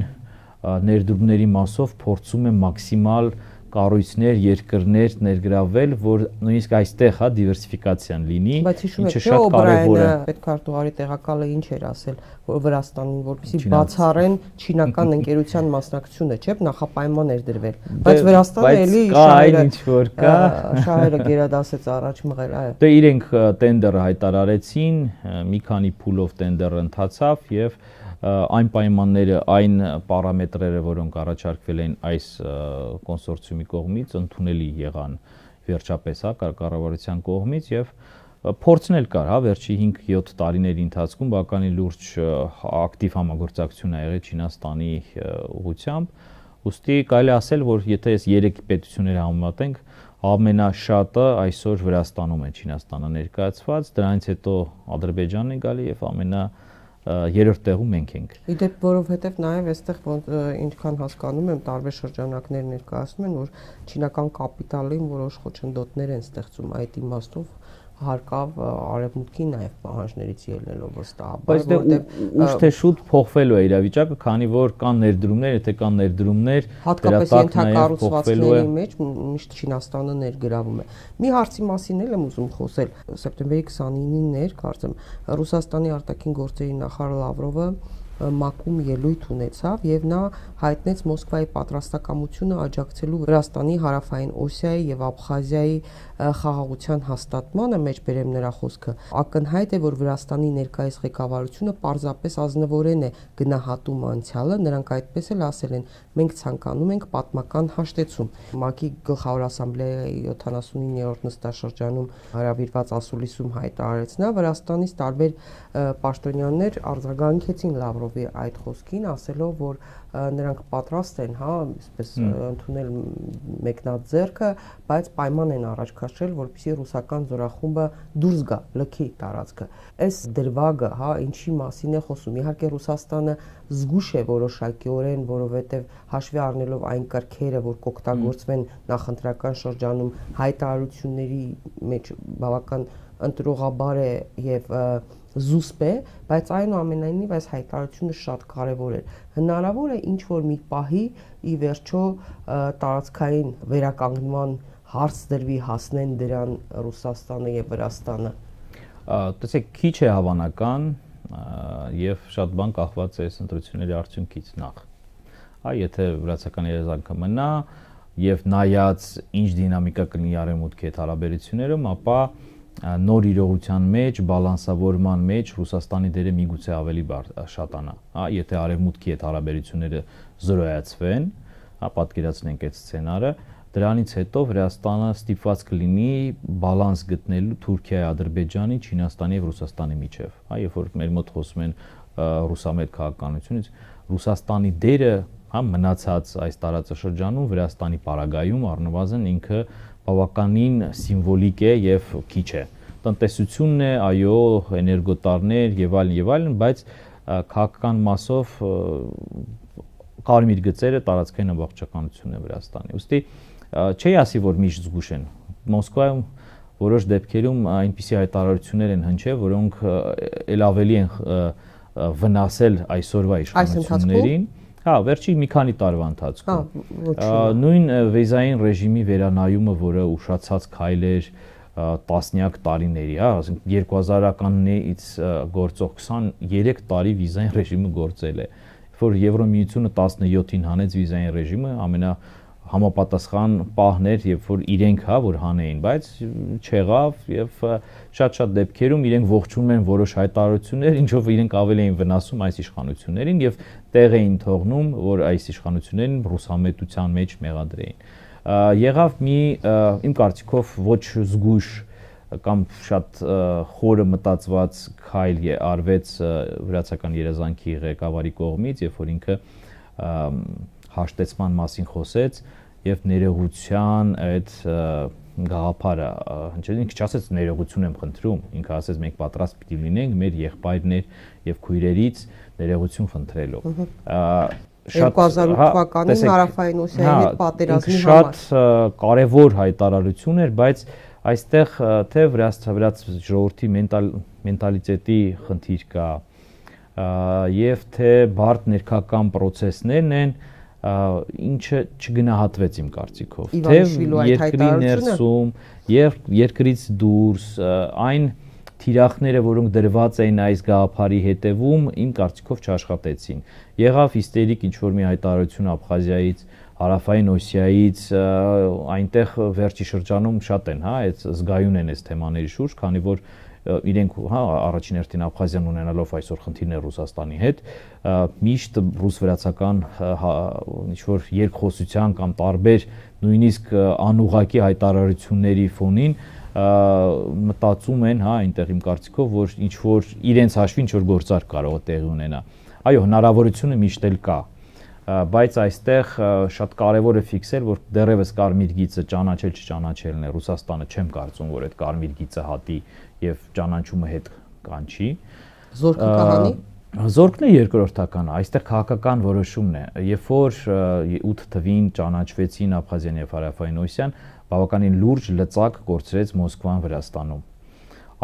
ներդրումների մասով փորձում է մաքսիմալ կառույցներ, երկրներ ներգրավել, որ նույնիսկ այստեղ դիվերսիֆիկացիան լինի, ինչը շատ կարևոր է։ Պետքարտուղարի տեղակալը ինչ էր ասել, որ Վրաստանին, որպեսզի բացառեն չինական ընկերության մասնակցությունը, չէ՞, նախապայման էր դրվել։ Բայց Վրաստանը էլի շահերը գերադասեց առաջ մղել, այո։ Դե իրենք տենդերը հայտարարեցին, մի քանի փուլով տենդերը ընթացավ եւ այն պայմանները, այն պարամետրերը, որոնք առաջարկվել են այս կոնսորցիումի կողմից, ընդունելի եղան վերջապես կառավարության կողմից եւ փորձն էլ կար, վերջի 5-7 տարիների ընթացքում բավականին լուրջ ակտիվ համագործակցություն ա եղել Չինաստանի ուղղությամբ, ուստի կարելի ասել, որ եթե այս 3 պետությունները համեմատենք, ամենաշատը այսօր Վրաստանում է Չինաստանը ներկայացված, դրանից հետո Ադրբեջանն է գալի եւ երրորդ տեղում մենք ենք։ Իդեպ, որովհետև նաև այստեղ ինչքան հասկանում եմ, տարբեր շրջանակներ ներկայացնում են, որ չինական կապիտալին որոշ խոչընդոտներ են ստեղծում այդ իմաստով հարկավ արևմուտքի նաև պահանջներից ելնելով վստահաբար, բայց դե ուշ թե շուտ փոխվելու է իրավիճակը, քանի որ կան ներդրումներ, եթե կան ներդրումներ, հատկապես ենթակառուցվածքների մեջ միշտ Չինաստանը ներգրավում է։ Մի հարցի մասին էլ եմ ուզում խոսել, սեպտեմբերի 29-ին էր, կարծեմ, Ռուսաստանի արտաքին գործերի նախարար Լավրովը մակում ելույթ ունեցավ եւ նա հայտնեց Մոսկվայի պատրաստակամությունը աջակցելու Վրաստանի հարավային Օսիայի եւ Աբխազիայի խաղաղության հաստատմանը, մեջբերեմ նրա խոսքը, ակնհայտ է, որ Վրաստանի ներկայիս ղեկավարությունը պարզապես ազնվորեն է գնահատում անցյալը, նրանք այդպես էլ ասել են, մենք ցանկանում ենք պատմական հաշտեցում։ ՄԱԿ-ի գլխավոր ասամբլեայի 79-րդ նստաշրջանում հրավիրված ասուլիսում հայտարարեց նա, Վրաստանից տարբեր պաշտոնյաներ արձագանքեցին Լավրովի Լավրովի այդ խոսքին, ասելով, որ նրանք պատրաստ են, հա, այսպես ընդունել մեկնած ձեռքը, բայց պայման են առաջ քաշել, որպեսզի ռուսական զորախումբը դուրս գա, լքի տարածքը։ Այս դրվագը, հա, ինչի մասին է խոսում։ Իհարկե Ռուսաստանը զգուշ է որոշակիորեն, որովհետև հաշվի առնելով այն կրքերը, որ կօգտագործվեն նախընտրական շրջանում, հայտարարությունների մեջ բավական ընտրողաբար է եւ զուսպ է, բայց այնուամենայնիվ այս հայտարարությունը շատ կարևոր է։ Հնարավոր է ինչ որ մի պահի ի վերջո տարածքային վերականգնման հարց դրվի, հասնեն դրան Ռուսաստանը եւ Վրաստանը։ Տեսեք, քիչ է հավանական եւ շատ բան կախված է այս ընտրությունների արդյունքից նախ։ Եթե վրացական երազանքը մնա եւ նայած ինչ դինամիկա կլինի արևմուտքի հետ հարաբերություններում, ապա նոր իրողության մեջ, բալանսավորման մեջ Ռուսաստանի դերը միգուցե ավելի շատանա, եթե արևմուտքի հետ հարաբերությունները զրոյացվեն, պատկերացնենք այդ սցենարը, դրանից հետո Վրաստանը ստիպված կլինի բալանս գտնելու Թուրքիայի, Ադրբեջանի, Չինաստանի եւ Ռուսաստանի միջև, երբ որ մեր մոտ խոսում են ռուսամետ քաղաքականությունից, Ռուսաստանի դերը, մնացած այս տարածաշրջանում Վրաստանի պարագայում առնվազն ինքը բավականին սիմվոլիկ է եւ քիչ է։ Տնտեսությունն է, այո, էներգոտարներ եւ այլն, բայց քաղաքական մասով կարմիր գծերը տարածքային ամբողջականությունն է Վրաստանի։ Ուստի չի ասի, որ միշտ զգուշ են։ Մոսկվայում որոշ դեպքերում այնպիսի հայտարարություններ են հնչել, որոնք ել ավելի են վնասել այսօրվա իշխանություններին։ Վերջի մի քանի տարվա ընթացքում նույն վիզային ռեժիմի վերանայումը, որը ուշացած քայլ էր տասնյակ տարիների, ասենք 2000-ականներից գործող 23 տարի վիզային ռեժիմը գործել է, որ Եվրոմիությունը 17-ին հանեց վիզային ռեժիմը, ամենահամապատասխան պահն էր, երբ որ իրենք որ հանեին, բայց չեղավ եւ շատ դեպքերում իրենք ողջունում են որոշ հայտարարություններ, ինչով իրենք ավելի էին վնասում այս իշխանություններին եւ տեղ էին թողնում, որ այս իշխանություններին ռուսամետության մեջ մեղադրեին։ Եղավ մի իմ կարծիքով ոչ զգույշ կամ շատ խորը մտածված քայլ արվեց վրացական երազանքի ղեկավարի կողմից, երբ որ ինքը հաշտեցման մասին խոսեց եւ ներողության այդ գաղափարը, ինքը չասեց ներողություն եմ խնդրում, ինքը ասեց մենք պատրաստ պիտի լինենք մեր եղբայրներ եւ քույրերից ներողություն խնդրելով։ 2008 թվականին Հարավային Օսիայի հետ պատերազմի համար շատ կարևոր հայտարարություն էր, բայց այստեղ թե վրաց ժողովրդի մենտալիտետի խնդիր կա եւ թե բարդ ներքական process-ներն են, ինչը չգնահատվեց իմ կարծիքով, թե երկրի ներսում եւ երկրից դուրս այն թիրախները, որոնք դրված էին այս գաղափարի հետևում, իմ կարծիքով չաշխատեցին։ Եղավ հիստերիկ ինչ-որ մի հայտարարություն Աբխազիայից, Հարավային Օսիայից, այնտեղ վերջի շրջանում շատ են, այդ զգայուն են այս թեմաների շուրջ, քանի որ իրենք առաջին հերթին Աբխազիան ունենալով այսօր խնդիրներ Ռուսաստանի հետ, միշտ ռուս-վրացական ինչ-որ երկխոսության կամ տարբեր նույնիսկ անուղղակի հայտարարությունների ֆոնին մտածում են, այնտեղ իմ կարծիքով, որ ինչ-որ իրենց հաշվին ինչ-որ գործարք կարող է տեղի ունենա։ Այո, հնարավորությունը միշտ էլ կա, բայց այստեղ շատ կարևոր է ֆիքսել, որ դեռևս կարմիր գիծը ճանաչել չճանաչելն է, Ռուսաստանը չեմ կարծում, որ այդ կարմիր գիծը հատի եւ ճանաչումը հետ կանչի։ Զորքը կհանի։ Զորքն է երկրորդականը, այստեղ քաղաքական որոշումն է։ Երբ որ 8 թվին ճանաչվեցին Աբխազիան եւ Հարավային Օսիան, բավականին լուրջ լծակ կորցրեց Մոսկվան Վրաստանում։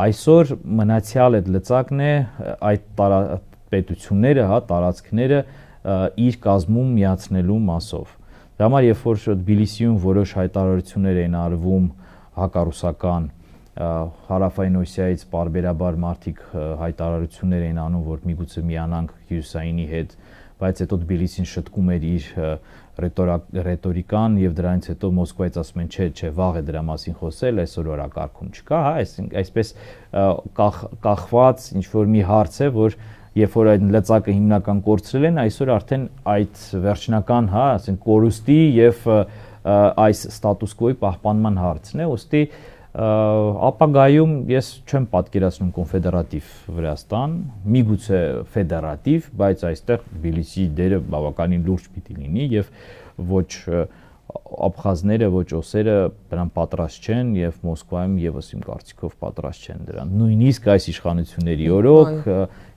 Այսօր մնացյալ այդ լծակն է այդ պետությունները, տարածքները իր կազմում միացնելու մասով։ Դա համար երբ որ Թբիլիսիում որոշ հայտարարություններ էին արվում հակառուսական, Հարավային Օսիայից պարբերաբար մարդիկ հայտարարություններ էին անում, որ միգուցե միանանք Հյուսայինի հետ, բայց հետո Թբիլիսին շտկում էր իր ռետորիկան եւ դրանից հետո Մոսկվայից ասում են չէ, վաղ է դրա մասին խոսել, այսօր օրակարգում չկա, այսպես կախված ինչ որ մի հարց է, որ երբ որ այդ լծակը հիմնական կորցրել են, այսօր արդեն այդ վերջնական, ասենք կորուստի եւ այս ստատուս կվոյի պահպանման հարցն է, ուստի ապագայում ես չեմ պատկերացնում կոնֆեդերատիվ Վրաստան, միգուցե ֆեդերատիվ, բայց այստեղ Թբիլիսիի դերը բավականին լուրջ պիտի լինի եւ ոչ աբխազները, ոչ օսերը դրան պատրաստ չեն եւ Մոսկվայում եւս իմ կարծիքով պատրաստ չեն դրան։ Նույնիսկ այս իշխանությունների օրոք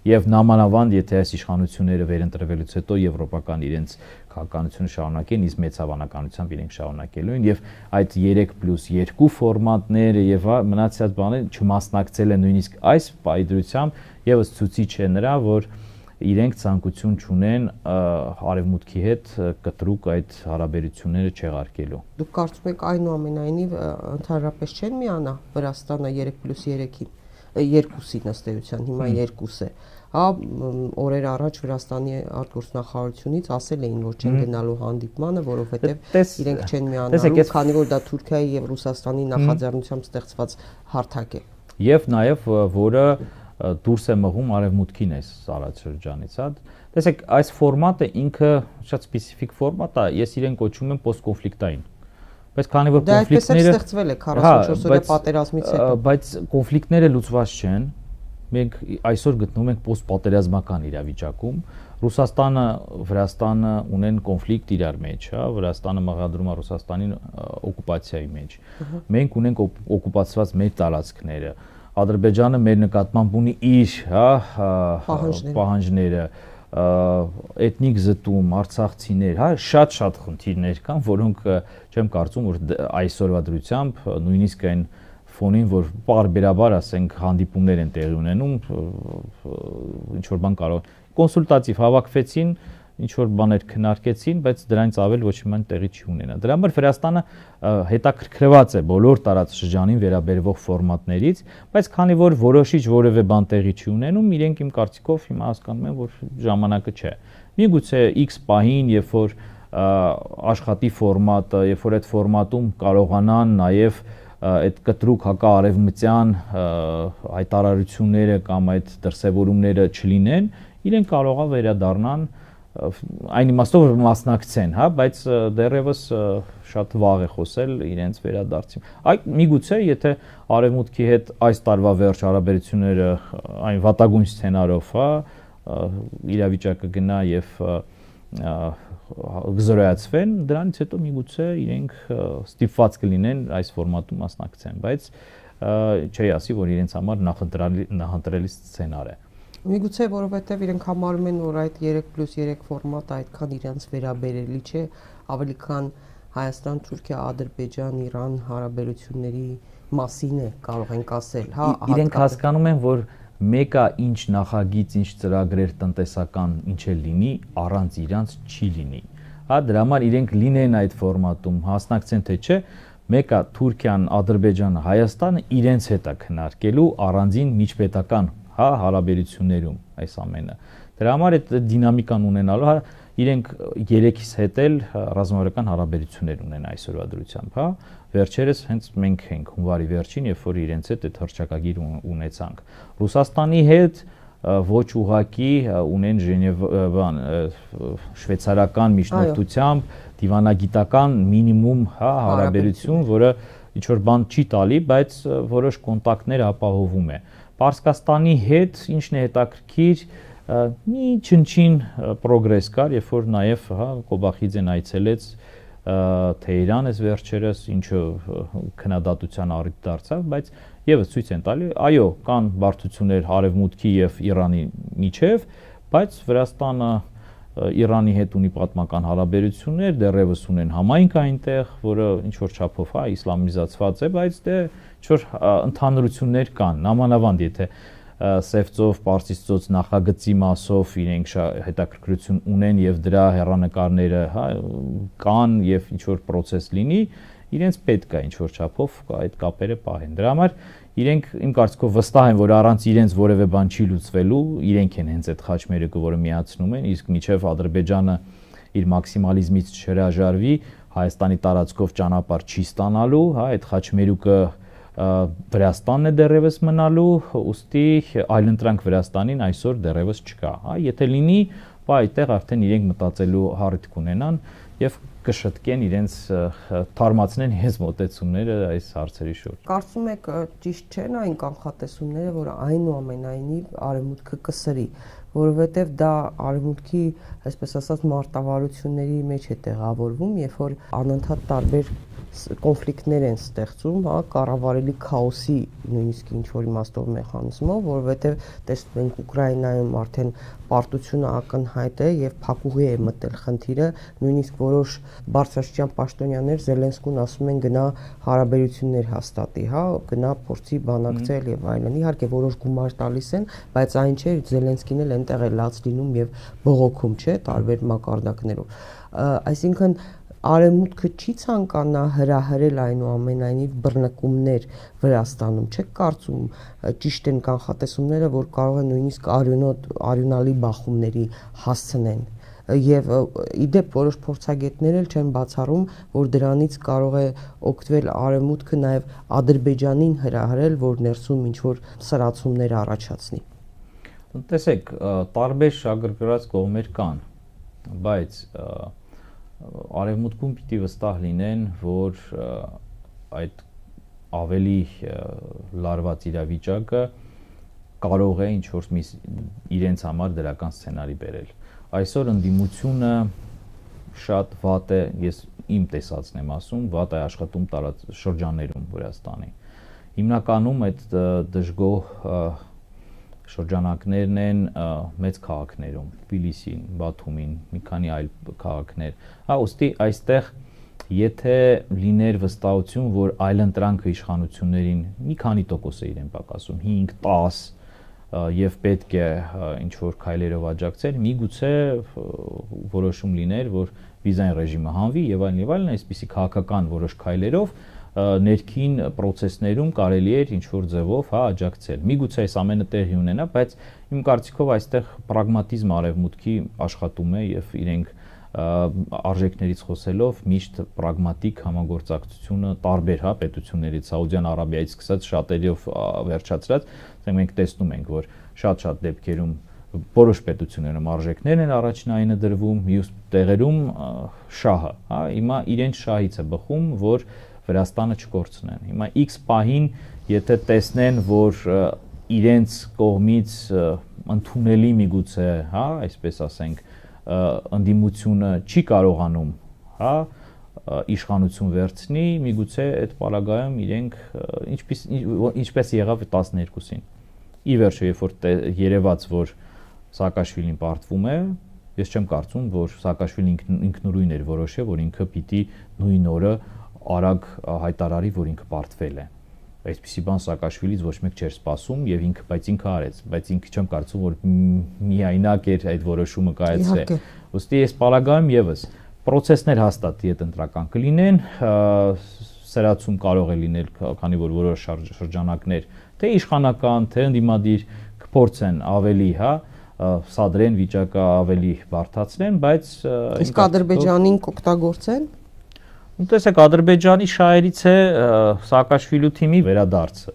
եւ նամանավանդ եթե այս իշխանությունները վերընտրվելուց հետո եվրոպական իրենց քաղաքականությունը շարունակեն, իսկ մեծ հավանականությամբ իրենք շարունակելու են եւ այդ 3+2 ֆորմատները եւ մնացած բաները չմասնակցել են նույնիսկ այս պայդրությամբ եւս ցույցիչ է նրա, որ իրենք ցանկություն չունեն արևմուտքի հետ կտրուկ այդ հարաբերությունները չեղարկելու։ Դուք կարծում եք այնուամենայնիվ ընդհանրապես չեն միանա Վրաստանը 3+3-ին, 2-ի ըստ էության, հիմա 2 է։ Հա, օրեր առաջ Վրաստանի արտգործնախարարությունից ասել էին, որ չեն գնալու հանդիպմանը, որովհետև իրենք չեն միանալու, քանի որ դա Թուրքիայի եւ Ռուսաստանի նախաձեռնությամբ ստեղծված հարթակ է։ Եվ նաեւ որը դուրս է մղում արևմուտքին այս տարածաշրջանից, հա։ Տեսեք, այս ֆորմատը ինքը շատ սպეციფიկ ֆորմատ է, ես իրեն կոչում եմ post-կոնֆլիկտային։ Բայց քանի որ կոնֆլիկտները ստեղծվել է 44-օրյա պատերազմից հետո, բայց կոնֆլիկտները լուծված չեն։ Մենք այսօր գտնվում ենք post-պատերազմական իրավիճակում։ Ռուսաստանը, Վրաստանը ունեն կոնֆլիկտ իրար մեջ, հա, Վրաստանը մեղադրում է Ռուսաստանին օկուպացիայի մեջ։ Մենք ունենք օկուպացված մեր տարածքները։ Ադրբեջանը մեր նկատմամբ ունի իր, հա, պահանջները, էթնիկ զտում, արցախցիներ, հա, շատ խնդիրներ կան, որոնք չեմ կարծում, որ այսօրվա դրությամբ նույնիսկ այն ֆոնին, որ պարբերաբար, ասենք, հանդիպումներ են տեղի ունենում, ինչ որ բան կարող կոնսուլտատիվ հավաքվեցին, ինչ որ բաներ քննարկեցին, բայց դրանից ավել ոչ մի բան տեղի չի ունենա։ Դրա համար Վրաստանը հետաքրքրված է բոլոր տարածաշրջանին վերաբերվող ֆորմատներից, բայց քանի որ որոշիչ որևէ բան տեղի չի ունենում, իրենք իմ կարծիքով հիմա հասկանում են, որ ժամանակը չէ։ Միգուցե X պահին, երբ որ աշխատի ֆորմատը, երբ որ այդ ֆորմատում կարողանան նաև այդ կտրուկ հակաարևմտյան հայտարարությունները կամ այդ դրսևորումները չլինեն, իրենք կարող է վերադառնան այն իմաստով որ մասնակցեն, հա, բայց դեռևս շատ վաղ է խոսել իրենց վերադարձին։ Այդ միգուցե եթե արևմուտքի հետ այս տարվա վերջ հարաբերությունները այն վատագույն սցենարով, հա, իրավիճակը գնա եւ գզրոյացվեն, դրանից հետո միգուցե իրենք ստիպված կլինեն այս ֆորմատում մասնակցեն, բայց չի ասի, որ իրենց համար նախընտրելի սցենար է։ Միգուցե որովհետև իրենք համարում են, որ այդ 3+3 ֆորմատը այդքան իրենց վերաբերելի չէ, ավելի քան Հայաստան, Թուրքիա, Ադրբեջան, Իրան հարաբերությունների մասին է, կարող ենք ասել, հա, իրենք հասկանում են, որ մեկը ինչ նախագիծ, ինչ ծրագրեր տնտեսական ինչ է լինի, առանց իրանց չի լինի։ Հա, դրա համար իրենք լինեն այդ ֆորմատում, հասնակցեն թե չէ, մեկը Թուրքիան, Ադրբեջանը, Հայաստանը իրենց հետ է քննարկելու առանձին միջպետական, հա, հարաբերություններում այս ամենը։ Դրա համար այդ դինամիկան ունենալու, հա, իրենք երեքից հետ էլ ռազմավարական հարաբերություններ ունեն այսօրվա դրությամբ, հա։ Վերջերս հենց մենք ենք հունվարի վերջին, երբ որ իրենց հետ այդ հռչակագիր ունեցանք։ Ռուսաստանի հետ ոչ ուղակի ունեն Ժնևան շվեյցարական միջնորդությամբ դիվանագիտական մինիմում, հա, հարաբերություն, որը ինչ որ բան չի տալի, բայց որոշ կոնտակտներ ապահովում է։ Պարսկաստանի հետ ինչն է հետաքրքիր, մի չնչին պրոգրես կար, երբ որ նաև, հա, Կոբախիձեն այցելեց Թեհրան այս վերջերս, ինչը քննադատության առիթ դարձավ, բայց եւս ցույց են տալի, այո, կան բարդություններ Արևմուտքի եւ Իրանի միջև, բայց Վրաստանը Իրանի հետ ունի պատմական հարաբերություններ, դեռևս ունեն համայնք այնտեղ, որը ինչ որ չափով, հա, իսլամիզացված է, բայց դե ինչ որ ընդհանրություններ կան, նամանավանդ եթե Սևծով, Պարսից ծոց նախագծի մասով իրենք հետաքրքրություն ունեն եւ դրա հեռանկարները, հա, կան եւ ինչ որ process լինի, իրենց պետք է ինչ որ չափով այդ կապերը պահեն։ Դրա համար իրենք իմ կարծիքով վստահ են, որ առանց իրենց որևէ բան չի լուծվելու, իրենք են հենց այդ խաչմերուկը, որը միացնում են, իսկ միջև Ադրբեջանը իր մաքսիմալիզմից չհրաժարվի, Հայաստանի տարածքով ճանապարհ չի ստանալու, հա, այդ խաչմերուկը Վրաստանն է դեռևս մնալու, ուստի այլընտրանք Վրաստանին այսօր դեռևս չկա, հա, եթե լինի, այդտեղ արդեն իրենք մտածելու հարթ կունենան, եւ կշտկեն իրենց թարմացնեն իրենց մոտեցումները այս հարցերի շուրջ։ Կարծում եք ճիշտ չեն այն կանխատեսումները, որ այնուամենայնիվ արևմուտքը կսրի, որովհետև դա արևմուտքի, այսպես ասած, մարտավարությունների մեջ է տեղավորվում, երբ որ անընդհատ տարբեր կոնֆլիկտներ են ստեղծում, հա, կառավարելի քաոսի նույնիսկ ինչ-որ իմաստով մեխանիզմով, որովհետև տեսնում ենք Ուկրաինայում արդեն պարտությունը ակնհայտ է եւ փակուղի է մտել խնդիրը, նույնիսկ որոշ բարձրաստիճան պաշտոնյաներ Զելենսկուն ասում են գնա հարաբերություններ հաստատի, հա, գնա փորձի բանակցել եւ այլն։ Իհարկե որոշ գումար տալիս են, բայց այն չէ, Զելենսկին էլ այնտեղ է լաց լինում եւ բողոքում, չէ, տարբեր մակարդակներով։ Այսինքն Արևմուտքը չի ցանկանա հրահրել այնուամենայնիվ բռնկումներ Վրաստանում, չեք կարծում ճիշտ են կանխատեսումները, որ կարող են նույնիսկ արյունալի բախումների հասցնեն եւ իդեպ որոշ փորձագետներ էլ չեն բացառում, որ դրանից կարող է օգտվել Արևմուտքը նաեւ Ադրբեջանին հրահրել, որ ներսում ինչ որ սրացումներ առաջացնի։ Տեսեք, տարբեր շագրգռած կողմեր կան, բայց Արևմուտքում պիտի վստահ լինեն, որ այդ ավելի լարված իրավիճակը կարող է ինչ-որ իրենց համար դրական սցենարի բերել։ Այսօր ընդդիմությունը շատ վատ է, ես իմ տեսածն եմ ասում, վատ է աշխատում շրջաններում Վրաստանի։ Հիմնականում այդ դժգոհ շրջանակներն են մեծ քաղաքներում, Թբիլիսին, Բաթումին, մի քանի այլ քաղաքներ։ Հա, ուստի այստեղ եթե լիներ վստահություն, որ այլընտրանքը իշխանություններին մի քանի տոկոս է իրեն պակասում, 5-10 եւ պետք է ինչ որ քայլերով աջակցել, միգուցե որոշում լիներ, որ վիզային ռեժիմը հանվի եւ այլն, այսպիսի քաղաքական որոշ քայլերով ներքին process-ներում կարելի էր ինչ-որ ձևով, հա, աջակցել։ Միգուցե այս ամենը տեղի ունենա, բայց իմ կարծիքով այստեղ պրագմատիզմ արևմուտքի աշխատում է եւ իրենք արժեքներից խոսելով միշտ պրագմատիկ համագործակցությունը տարբեր, հա, պետություններից, Սաուդյան Արաբիայից սկսած շատերով վերջացրած, մենք տեսնում ենք, որ շատ-շատ դեպքերում որոշ պետություններում արժեքներն են առաջնայինը դրվում, մյուս տեղերում շահը, հա, հիմա իրենց շահից է բխում, որ Վրաստանը չկորցնեն։ Հիմա X պահին, եթե տեսնեն, որ իրենց կողմից ընդունելի միգուցե, հա, այսպես ասենք, ընդդիմությունը չի կարողանում, հա, իշխանություն վերցնի, միգուցե այդ պարագայում իրենք ինչպես եղավ 12-ին։ Ի վերջո, երբ որ երևաց, որ Սաակաշվիլին պարտվում է, ես չեմ կարծում, որ Սաակաշվիլին ինքնուրույն էր որոշել, որ ինքը պիտի նույն օրը արագ հայտարարի, որ ինքը պարտվել է։ Այսպիսի բան Սաակաշվիլից ոչ մեկ չէր սպասում եւ բայց ինքը արեց, բայց ինքը չեմ կարծում, որ միայնակ էր այդ որոշումը կայացրել։ Ոստի այս պարագայում եւս process-ներ հաստատ յետընտրական կլինեն, սրացում կարող է լինել, քանի որ որոշ շրջանակներ թե իշխանական, թե ընդդիմադիր կփորձեն ավելի, հա, սադրեն վիճակը ավելի բարդացնեն, բայց իսկ Ադրբեջանին կօգտագործեն։ Տեսեք, Ադրբեջանի շահերից է Սաակաշվիլու թիմի վերադարձը,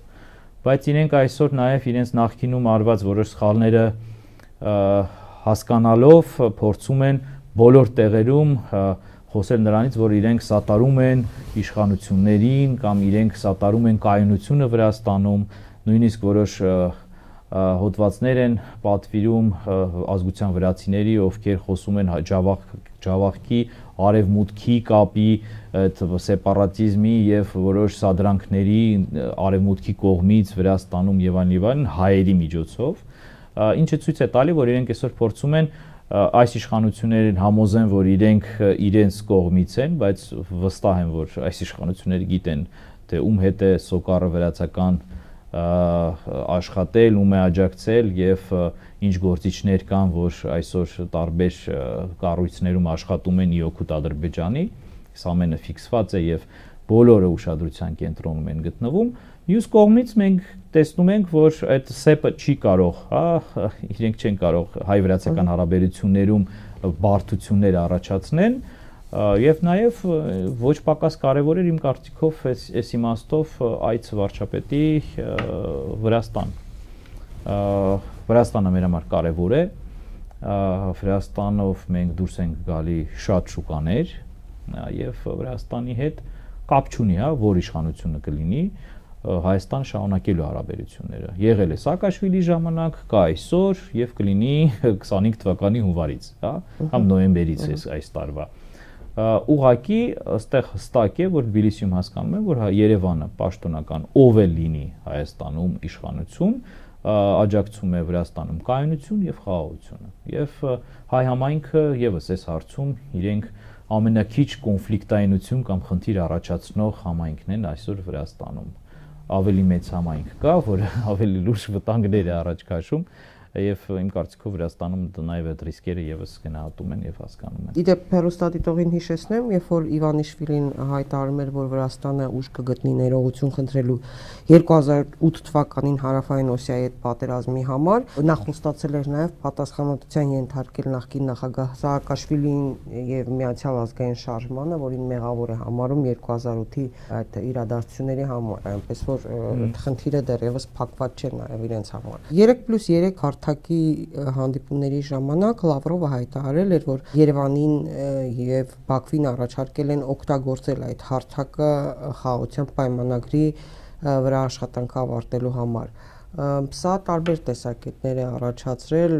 բայց իրենք այսօր նաև իրենց նախկինում արված որոշ սխալները հասկանալով փորձում են բոլոր տեղերում խոսել նրանից, որ իրենք սատարում են իշխանություններին կամ իրենք սատարում են կայունությունը Վրաստանում, նույնիսկ որոշ հոդվածներ են պատվիրում ազգության վրացիների, ովքեր խոսում են Ջավախքի արևմուտքի կապի, սեպարատիզմի եւ որոշ սադրանքների արևմուտքի կողմից Վրաստանում եւ այլն հայերի միջոցով, ինչը ցույց է տալի, որ իրենք այսօր փորձում են այս իշխանություններին համոզեն, որ իրենք իրենց կողմից են, բայց վստահ են, որ այս իշխանությունները գիտեն, թե ում հետ է Սոկարը վրացական աշխատել, ում է աջակցել եւ ինչ գործիչներ կան, որ այսօր տարբեր կառույցներում աշխատում են իօգուտ Ադրբեջանի, այս ամենը ֆիքսված է եւ բոլորը ուշադրության կենտրոնում են գտնվում։ Մյուս կողմից մենք տեսնում ենք, որ այդ սեպը չի կարող, հա, իրենք չեն կարող հայ-վրացական հարաբերություններում բարդություններ առաջացնեն եւ նաեւ ոչ պակաս կարեւոր էր իմ կարծիքով այս իմաստով այց վարչապետի Վրաստան։ Վրաստանը մեր համար կարեւոր է, Վրաստանով մենք դուրս ենք գալի շատ շուկաներ, եւ Վրաստանի հետ կապ չունի, հա, որ իշխանությունը կլինի, Հայաստան շարունակելու հարաբերությունները։ Եղել է Սաակաշվիլի ժամանակ, կա այսօր եւ կլինի 25 թվականի հունվարից, հա, կամ նոյեմբերից այս տարվա։ Ուղղակի այստեղ հստակ է, որ Թբիլիսիում հասկանում են, որ Երևանը պաշտոնական ով էլ լինի Հայաստանում իշխանություն, աջակցում է Վրաստանում կայունություն եւ խաղաղությունը։ Եվ հայ համայնքը եւս այս հարցում իրենք ամենակիչ կոնֆլիկտայնություն կամ խնդիր առաջացնող համայնքն են այսօր Վրաստանում։ Ավելի մեծ համայնք կա, որը ավելի լուրջ վտանգներ է առաջ քաշում եւ իմ կարծիքով Վրաստանում նաեւ այդ ռիսկերը եւս գնահատում են եւ հասկանում են։ Իդեպ հեռուստադիտողին հիշեցնեմ, երբ որ Իվանիշվիլին հայտարարում էր, որ Վրաստանը ուժ կգտնի ներողություն խնդրելու 2008 թվականին Հարավային Օսիայի հետ պատերազմի համար, նա խոստացել էր նաեւ պատասխանատվության ենթարկել նախկին նախագահ Սաակաշվիլին եւ Միացյալ ազգային շարժմանը, որին մեղավոր է համարում 2008-ի այդ իրադարձությունների համար, այնպես որ խնդիրը դեռևս փակված չէ նաեւ իրենց համար։ 3+3 հարթակի հանդիպումների ժամանակ Լավրովը հայտարարել էր, որ Երևանին եւ Բաքվին առաջարկել են օգտագործել այդ հարթակը խաղաղության պայմանագրի վրա աշխատանքը ավարտելու համար։ Սա տարբեր տեսակետներ է առաջացրել,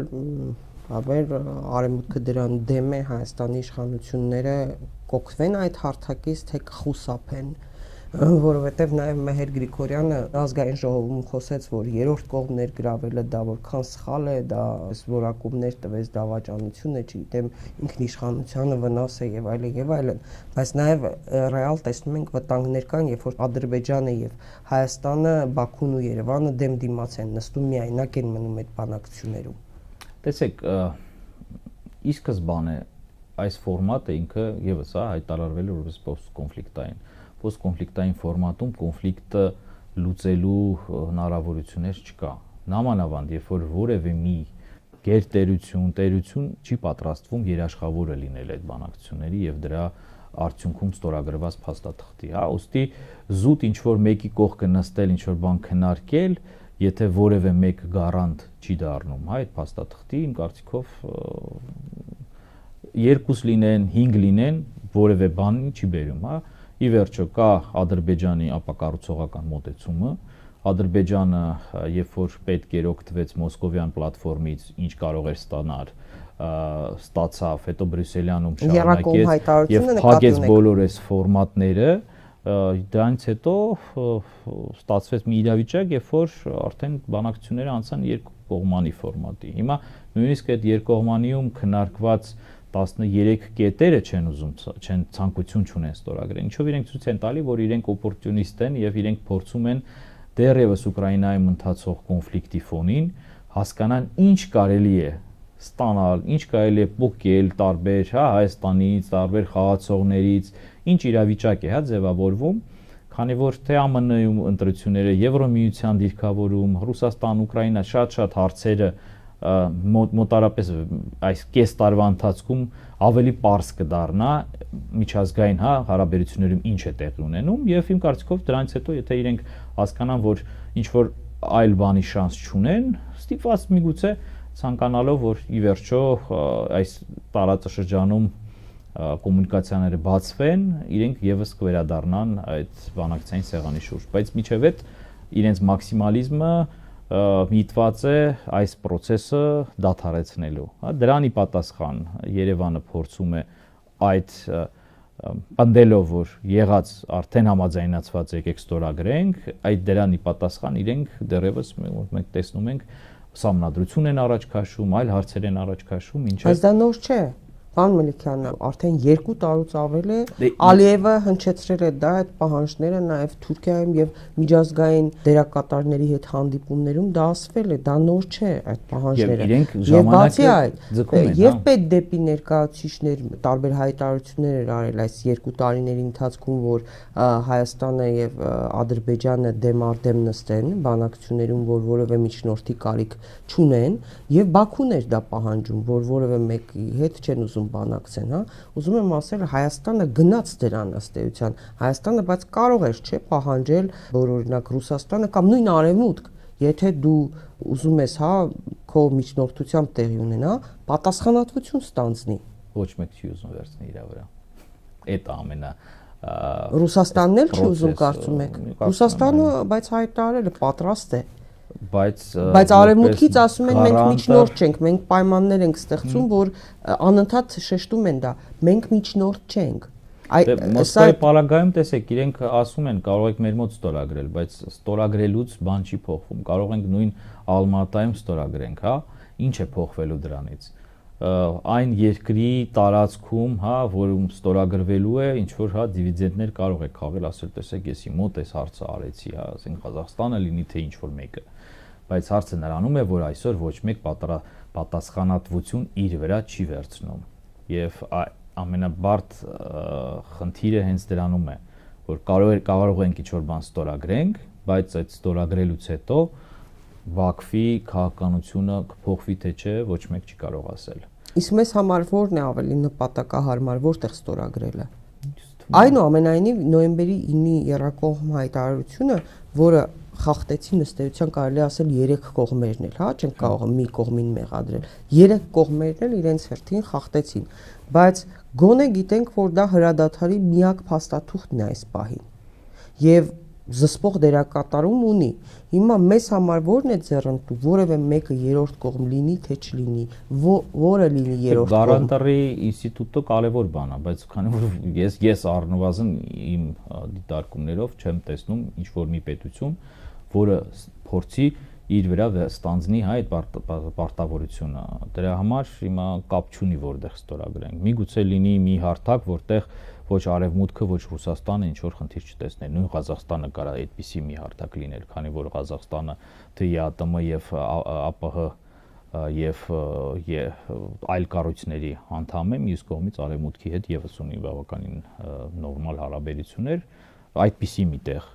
հավեր արևմուտքը դրան դեմ է, Հայաստանի իշխանությունները կօգտվեն այդ հարթակից, թե կխուսափեն, որովհետև նաև Մեհեր Գրիգորյանը ազգային ժողովում խոսեց, որ երրորդ կողմ ներգրավելը դա որքան սխալ է, դա որակումներ տվեց դավաճանություն է, չգիտեմ, ինքնիշխանությանը վնաս է եւ այլն, բայց նաև ռեալ տեսնում ենք վտանգներ կան, երբ որ Ադրբեջանը եւ Հայաստանը, Բաքուն ու Երևանը դեմ-դիմաց են նստում, միայնակ են մնում այդ բանակցություններում։ Տեսեք, ի սկզբանե այս ֆորմատը ինքը եւս հայտարարվել է որպես post-կոնֆլիկտային post-կոնֆլիկտային ֆորմատում կոնֆլիկտը լուծելու հնարավորություններ չկա։ Նամանավանդ, երբ որ որևէ մի գերտերություն չի պատրաստվում երաշխավորը լինել այդ բանակցությունների եւ դրա արդյունքում ստորագրված փաստաթղթի, հա, ուստի զուտ ինչ որ մեկի կողքը նստել, ինչ որ բան քննարկել, եթե որևէ մեկ գարանտ չի դառնում, հա, այդ փաստաթղթի, իմ կարծիքով 2 լինեն, 5 լինեն, որևէ բանի չի բերում, հա։ Ի վերջո կա Ադրբեջանի ապակառուցողական մոտեցումը, Ադրբեջանը, երբ որ պետք էր օգտվեց Մոսկովյան պլատֆորմից, ինչ կարող էր ստանալ, ստացավ, հետո Բրյուսելյանում շարունակեց եւ փակեց բոլոր այս ֆորմատները, դրանից հետո ստացվեց մի իրավիճակ, երբ որ արդեն բանակցությունները անցան երկկողմանի ֆորմատի։ Հիմա նույնիսկ այդ երկկողմանիում քննարկված 13 կետերը չեն ցանկություն չունեն ստորագրել, ինչով իրենք ցույց են տալի, որ իրենք օպորտունիստ են եւ իրենք փորձում են դեռևս Ուկրաինայում ընթացող կոնֆլիկտի ֆոնին հասկանան ինչ կարելի է ստանալ, ինչ կարելի է փոկել տարբեր, հա, Հայաստանից, տարբեր խաղացողներից, ինչ իրավիճակ է, հա, ձևավորվում, քանի որ թե ԱՄՆ-ում ընտրությունները, Եվրոմիության դիրքավորում, Ռուսաստան, Ուկրաինա շատ հարցերը մոտարապես այս կես տարվա ընթացքում ավելի པարզ կդառնա միջազգային, հա, հարաբերություններում ինչ է տեղի ունենում եւ իմ կարծիքով դրանից հետո եթե իրենք հասկանան, որ ինչ որ այլ բանի շանս չունեն, ստիպված միգուցե ցանկանալով, որ ի վերջո այս տարածաշրջանում կոմունիկացիաները բացվեն, իրենք եւս կվերադառնան այդ բանակցային սեղանի շուրջ, բայց միջև այդ իրենց մաքսիմալիզմը միտված է այս process-ը դադարեցնելու, հա, դրանի պատասխան Երևանը փորձում է այդ պնդելով, որ եղած արդեն համաձայնացված եկեք ստորագրենք, այդ դրանի պատասխան իրենք դեռևս մենք տեսնում ենք սահմանադրություն են առաջ քաշում, այլ հարցեր են առաջ քաշում, ինչը Բայց դա նոր չէ։ Պարոն Մելիքյանը, արդեն 2 տարուց ավել է Ալիևը հնչեցրել է դա այդ պահանջները նաև Թուրքիայում եւ միջազգային դերակատարների հետ հանդիպումներում դա ասվել է, դա նոր չէ այդ պահանջները։ Եվ բացի այդ, եւ պետ դեպի ներկայացուցիչներ տարբեր հայտարարություններ էր արել այս 2 տարիների ընթացքում, որ Հայաստանը եւ Ադրբեջանը դեմ նստեն բանակցություններում, որ որևէ միջնորդի կարիք չունեն, եւ Բաքուն էր դա պահանջում, որ որևէ մեկի հետ չեն ուզում բանակցեն, հա, ուզում եմ ասել Հայաստանը գնաց դրան ըստ էության, Հայաստանը բայց կարող էր չէ պահանջել, որ օրինակ Ռուսաստանը կամ նույն Արևմուտք, եթե դու ուզում ես, հա, քո միջնորդությամբ տեղի ունենա, պատասխանատվություն ստանձնի։ Ոչ մեկ չի ուզում վերցնել իր վրա։ այդ ամենա Ռուսաստանն էլ չի ուզում կարծում եք։ Ռուսաստանը բայց հայտարարել է պատրաստ է։ Բայց արևմուտքից ասում են մենք միջնորդ չենք, մենք պայմաններ ենք ստեղծում, որ անընդհատ շեշտում են դա։ Մենք միջնորդ չենք։ Մոսկվայի պարագայում տեսեք, իրենք ասում են կարող եք մեր մոտ ստորագրել, բայց ստորագրելուց բան չի փոխվում։ Կարող ենք նույն Ալմատայում ստորագրենք, հա, ինչ է փոխվելու դրանից։ Այն երկրի տարածքում, հա, որում ստորագրվելու է, ինչ որ հա դիվիդենդներ կարող է քաղել, ասել տեսեք, ես իմ մոտ էս հարցը արեցի, հա, ասենք Ղազախստանը լինի թե ինչ որ մեկը։ Բայց հարցը նրանում է, որ այսօր ոչ մեկ պատասխանատվություն իր վրա չի վերցնում։ Եվ ամենաբարդ խնդիրը հենց դրանում է, որ կարող ենք ինչ որ բան ստորագրենք, բայց այդ ստորագրելուց հետո Բաքվի քաղաքականությունը կփոխվի թե չէ, ոչ մեկ չի կարող ասել։ Իսկ մեզ համար ո՞րն է ավելի նպատակահարմար, որտեղ ստորագրելը։ Այնուամենայնիվ նոյեմբերի 9-ի եռակողմ հայտարարությունը, որը խախտեցին ըստ էության կարելի ասել 3 կողմերն էլ, հա, չենք կարող մի կողմին մեղադրել։ 3 կողմերն էլ իրենց հերթին խախտեցին, բայց գոնե գիտենք, որ դա հրադադարի միակ փաստաթուղթն է այս պահին։ Եվ զսպող դերակատարում ունի։ Հիմա մեզ համար ո՞րն է ձեռնտու, որևէ մեկը երրորդ կողմ լինի թե չլինի, որը լինի երրորդ կողմ։ Գարանտարի ինստիտուտը կարևոր բան է, բայց քանի որ ես առնվազն իմ դիտարկումներով չեմ տեսնում ինչ որ մի պետություն, որը փորձի իր վրա ստանձնի այդ պարտավորությունը։ Դրա համար հիմա կապ չունի որտեղ ստորագրենք։ Միգուցե լինի մի հարթակ, որտեղ ոչ արևմուտքը, ոչ Ռուսաստանը ինչ որ խնդիր չտեսներ։ Նույն Ղազախստանը կարա այդպիսի մի հարթակ լիներ, քանի որ Ղազախստանը ԹԻԱՏՄ եւ ԱՊՀ եւ այլ կառույցների անդամ է, մյուս կողմից արևմուտքի հետ եւս ունի բավականին նորմալ հարաբերություններ, այդպիսի միտեղ,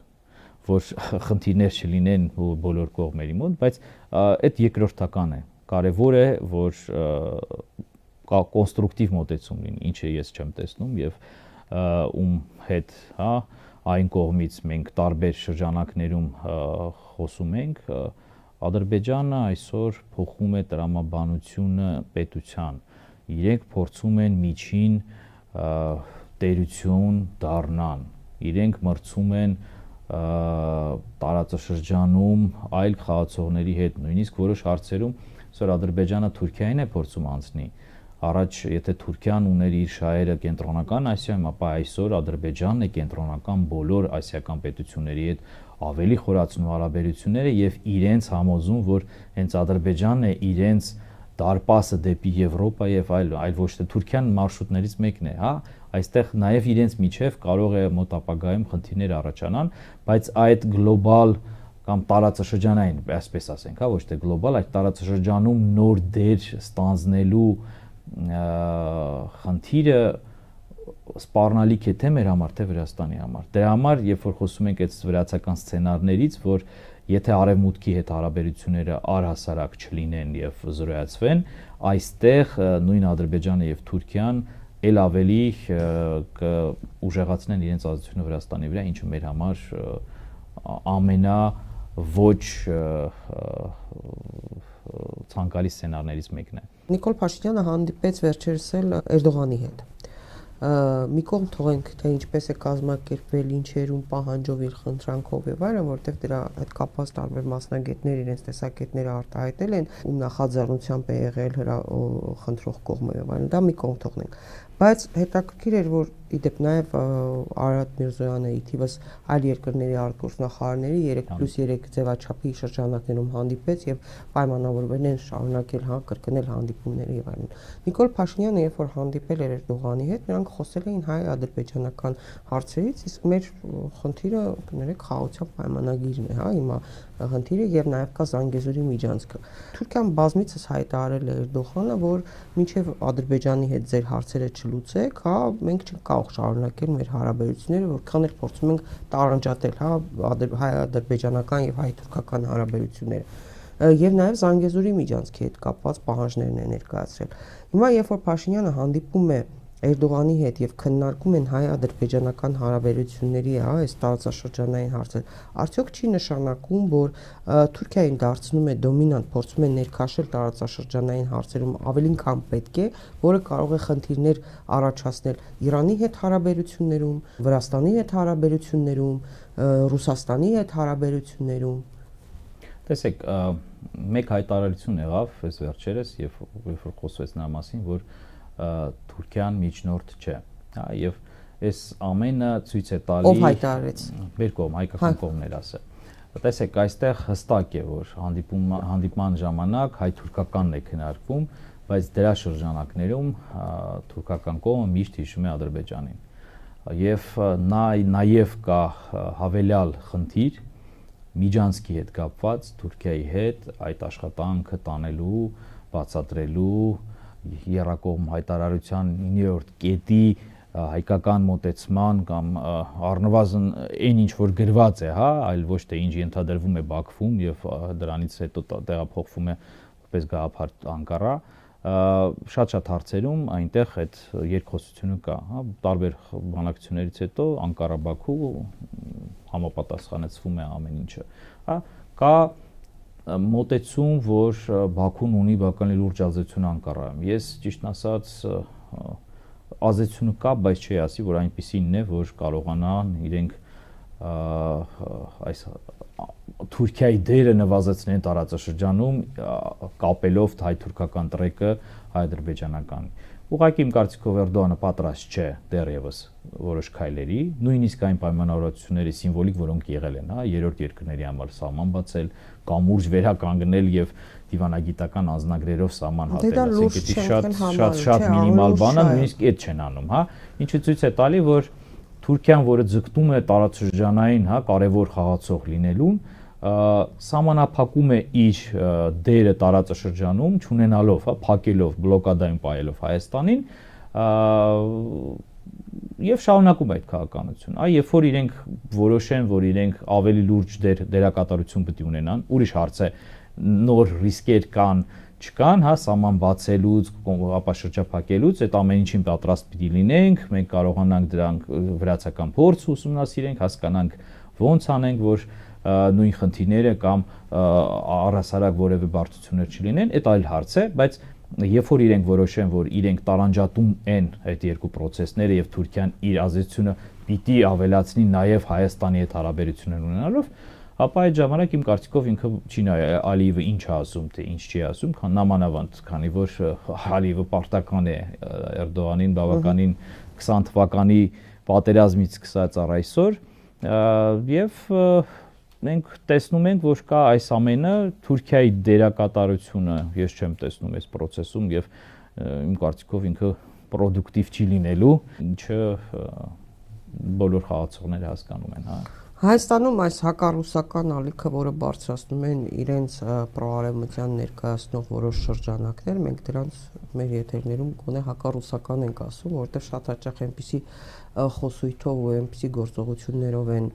որ խնդիրներ չլինեն բոլոր կողմերի մոտ, բայց այդ երկրորդական է։ Կարևոր է, որ կոնստրուկտիվ մոտեցում լինի, ինչը ես չեմ տեսնում եւ ում հետ, հա, այն կողմից մենք տարբեր շրջանակներում խոսում ենք, Ադրբեջանը այսօր փոխում է տրամաբանությունը պետության։ Իրենք փորձում են միջին տերություն դառնան։ Իրենք մրցում են տարածաշրջանում այլ խաղացողների հետ, նույնիսկ որոշ հարցերում, այսօր Ադրբեջանը Թուրքիային է փորձում անցնի։ Առաջ եթե Թուրքիան ուներ իր շահերը կենտրոնական Ասիայում, ապա այսօր Ադրբեջանն է կենտրոնական բոլոր ասիական պետությունների հետ ավելի խորացնում հարաբերությունները եւ իրենց համոզում, որ հենց Ադրբեջանն է իրենց դարպասը դեպի Եվրոպա եւ այլ ոչ թե Թուրքիան մարշրուտներից մեկն է, հա, այստեղ նաեւ իրենց միջև կարող է մոտ ապագայում խնդիրներ առաջանան, բայց այդ գլոբալ կամ տարածաշրջանային, այսպես ասենք, հա, ոչ թե գլոբալ, այդ տարածաշրջանում նոր դեր ստանձնելու խնդիրը սպառնալիք է թե մեր համար, թե Վրաստանի համար։ Դրա համար, երբ որ խոսում ենք այդ վրացական սցենարներից, որ եթե արևմուտքի հետ հարաբերությունները առհասարակ չլինեն եւ զրոյացվեն, այստեղ նույն Ադրբեջանը եւ Թուրքիան ել ավելի կուժեղացնեն իրենց ազդեցությունը Վրաստանի վրա, ինչը մեր համար ամենա ոչ ցանկալի սցենարներից մեկն է։ Նիկոլ Փաշինյանը հանդիպեց վերջերս էլ Էրդողանի հետ։ Մի կողմ թողենք, թե ինչպես է կազմակերպվել, ինչերում պահանջով իր խնդրանքով եւ այլն, որտեղ դրա այդ կապված տարբեր մասնագետներ իրենց տեսակետները արտահայտել են, ում նախաձեռնությամբ է եղել խնդրող կողմը եւ այլն, դա մի կողմ թողնենք։ Բայց հետաքրքիր էր, որ իդեպ նաև Արարատ Միրզոյանը ի թիվս այլ երկրների արտգործնախարարների 3+3 ձևաչափի շրջանակներում հանդիպեց եւ պայմանավորվել են շարունակել կրկնել հանդիպումները եւ այլն։ Նիկոլ Փաշինյանը երբ որ հանդիպել էր Էրդողանի հետ, նրանք խոսել էին հայ-ադրբեջանական հարցերից, իսկ մեր խնդիրը կներեք խաղաղության պայմանագիրն է, հիմա խնդիրը եւ նաեւ կա Զանգեզուրի միջանցքը։ Թուրքիան բազմիցս հայտարարել է Էրդողանը, որ մինչեւ Ադրբեջանի հետ ձեր հարցերը չլուծեք, մենք չենք կարող շարունակել մեր հարաբերությունները, որքան էլ փորձում ենք տարանջատել, հայ-ադրբեջանական եւ հայ-թուրքական հարաբերությունները։ Եվ նաեւ Զանգեզուրի միջանցքի հետ կապված պահանջներն է ներկայացրել։ Հիմա երբ որ Փաշինյանը հանդիպում է Էրդողանի հետ եւ քննարկում են հայ-ադրբեջանական հարաբերությունների, այս տարածաշրջանային հարցեր, արդյոք չի նշանակում, որ Թուրքիային դարձնում է դոմինանտ, փորձում է ներքաշել տարածաշրջանային հարցերում ավելին քան պետք է, որը կարող է խնդիրներ առաջացնել Իրանի հետ հարաբերություններում, Վրաստանի հետ հարաբերություններում, Ռուսաստանի հետ հարաբերություններում։ Տեսեք, մեկ հայտարարություն եղավ այս վերջերս, երբ որ խոսվեց նրա մասին, որ Թուրքիան միջնորդ չէ, հա, եւ այս ամենը ցույց է տալի ով հայտարարեց մեր կողմ հայկական կողմներ ասել։ Տեսեք, այստեղ հստակ է, որ հանդիպման ժամանակ հայ-թուրքականն է քննարկվում, բայց դրա շրջանակներում թուրքական կողմը միշտ հիշում է Ադրբեջանին։ Եվ նաև կա հավելյալ խնդիր Միջանցքի հետ կապված Թուրքիայի հետ այդ աշխատանքը տանելու, բացատրելու, եռակողմ հայտարարության 9-րդ կետի հայկական մոտեցման կամ առնվազն այն ինչ որ գրված է, հա, այլ ոչ թե ինչ ենթադրվում է Բաքվում եւ դրանից հետո տեղափոխվում է որպես գաղափար Անկարա, շատ հարցերում այնտեղ այդ երկխոսությունը կա, հա, տարբեր բանակցություններից հետո Անկարա-Բաքու համապատասխանեցվում է ամեն ինչը, հա, կա մոտեցում, որ Բաքուն ունի բավականին լուրջ ազդեցություն Անկարայում։ Ես ճիշտն ասած ազդեցությունը կա, բայց չի ասի, որ այնպիսին է, որ կարողանան իրենք այս Թուրքիայի դերը նվազեցնեն տարածաշրջանում կապելով հայ-թուրքական տրեկը հայ-ադրբեջանական։ Ուղղակի իմ կարծիքով Էրդողանը պատրաստ չէ դեռևս որոշ քայլերի, նույնիսկ այն պայմանավորվածությունների սիմվոլիկ, որոնք եղել են, հա, երրորդ երկրների համար սահման բացել, կամուրջ վերականգնել եւ դիվանագիտական անձնագրերով սահման հատել, ասենք դա շատ մինիմալ բան է, նույնիսկ այդ չեն անում, հա, ինչը ցույց է տալի, որ Թուրքիան, որը ձգտում է տարածաշրջանային, հա, կարևոր խաղացող լինելուն, սահմանափակում է իր դերը տարածաշրջանում, չունենալով, հա, փակելով, բլոկադային պահելով Հայաստանին, եւ շարունակում այդ քաղաքականությունը։ Այ երբ որ իրենք որոշեն, որ իրենք ավելի լուրջ դերակատարություն պետք է ունենան, ուրիշ հարց է, նոր ռիսկեր կան, չկան, հա, սահման բացելուց, ապա շրջափակելուց, այդ ամեն ինչին պատրաստ պիտի լինենք, մենք կարողանանք դրանք վրացական փորձ ուսումնասիրենք, հասկանանք ոնց անենք, որ նույն խնդիրները կամ առհասարակ որևէ բարդություններ չլինեն, այդ այլ հարց է, բայց երբ որ իրենք որոշեն, որ իրենք տարանջատում են այդ երկու process-ները եւ Թուրքիան իր ազդեցությունը պիտի ավելացնի նաեւ Հայաստանի հետ հարաբերություններ ունենալով, ապա այդ ժամանակ իմ կարծիքով ինքը չի նայ Ալիևը ինչ է ասում, թե ինչ չի ասում, նամանավանդ, քանի որ Ալիևը պարտական է Էրդողանին բավականին 20 թվականի պատերազմից սկսած առ այսօր եւ մենք տեսնում ենք, որ կա այս ամենը Թուրքիայի դերակատարությունը, ես չեմ տեսնում այս process-ում եւ իմ կարծիքով ինքը պրոդուկտիվ չի լինելու, ինչը բոլոր խաղացողները հասկանում են, հա։ Հայաստանում այս հակառուսական ալիքը, որը բարձրացնում են իրենց պրոարևմտյան ներկայացնող որոշ շրջանակներ, մենք դրանց մեր եթերներում գոնե հակառուսական ենք ասում, որովհետև շատ հաճախ այնպիսի խոսույթով ու այնպիսի գործողություններով են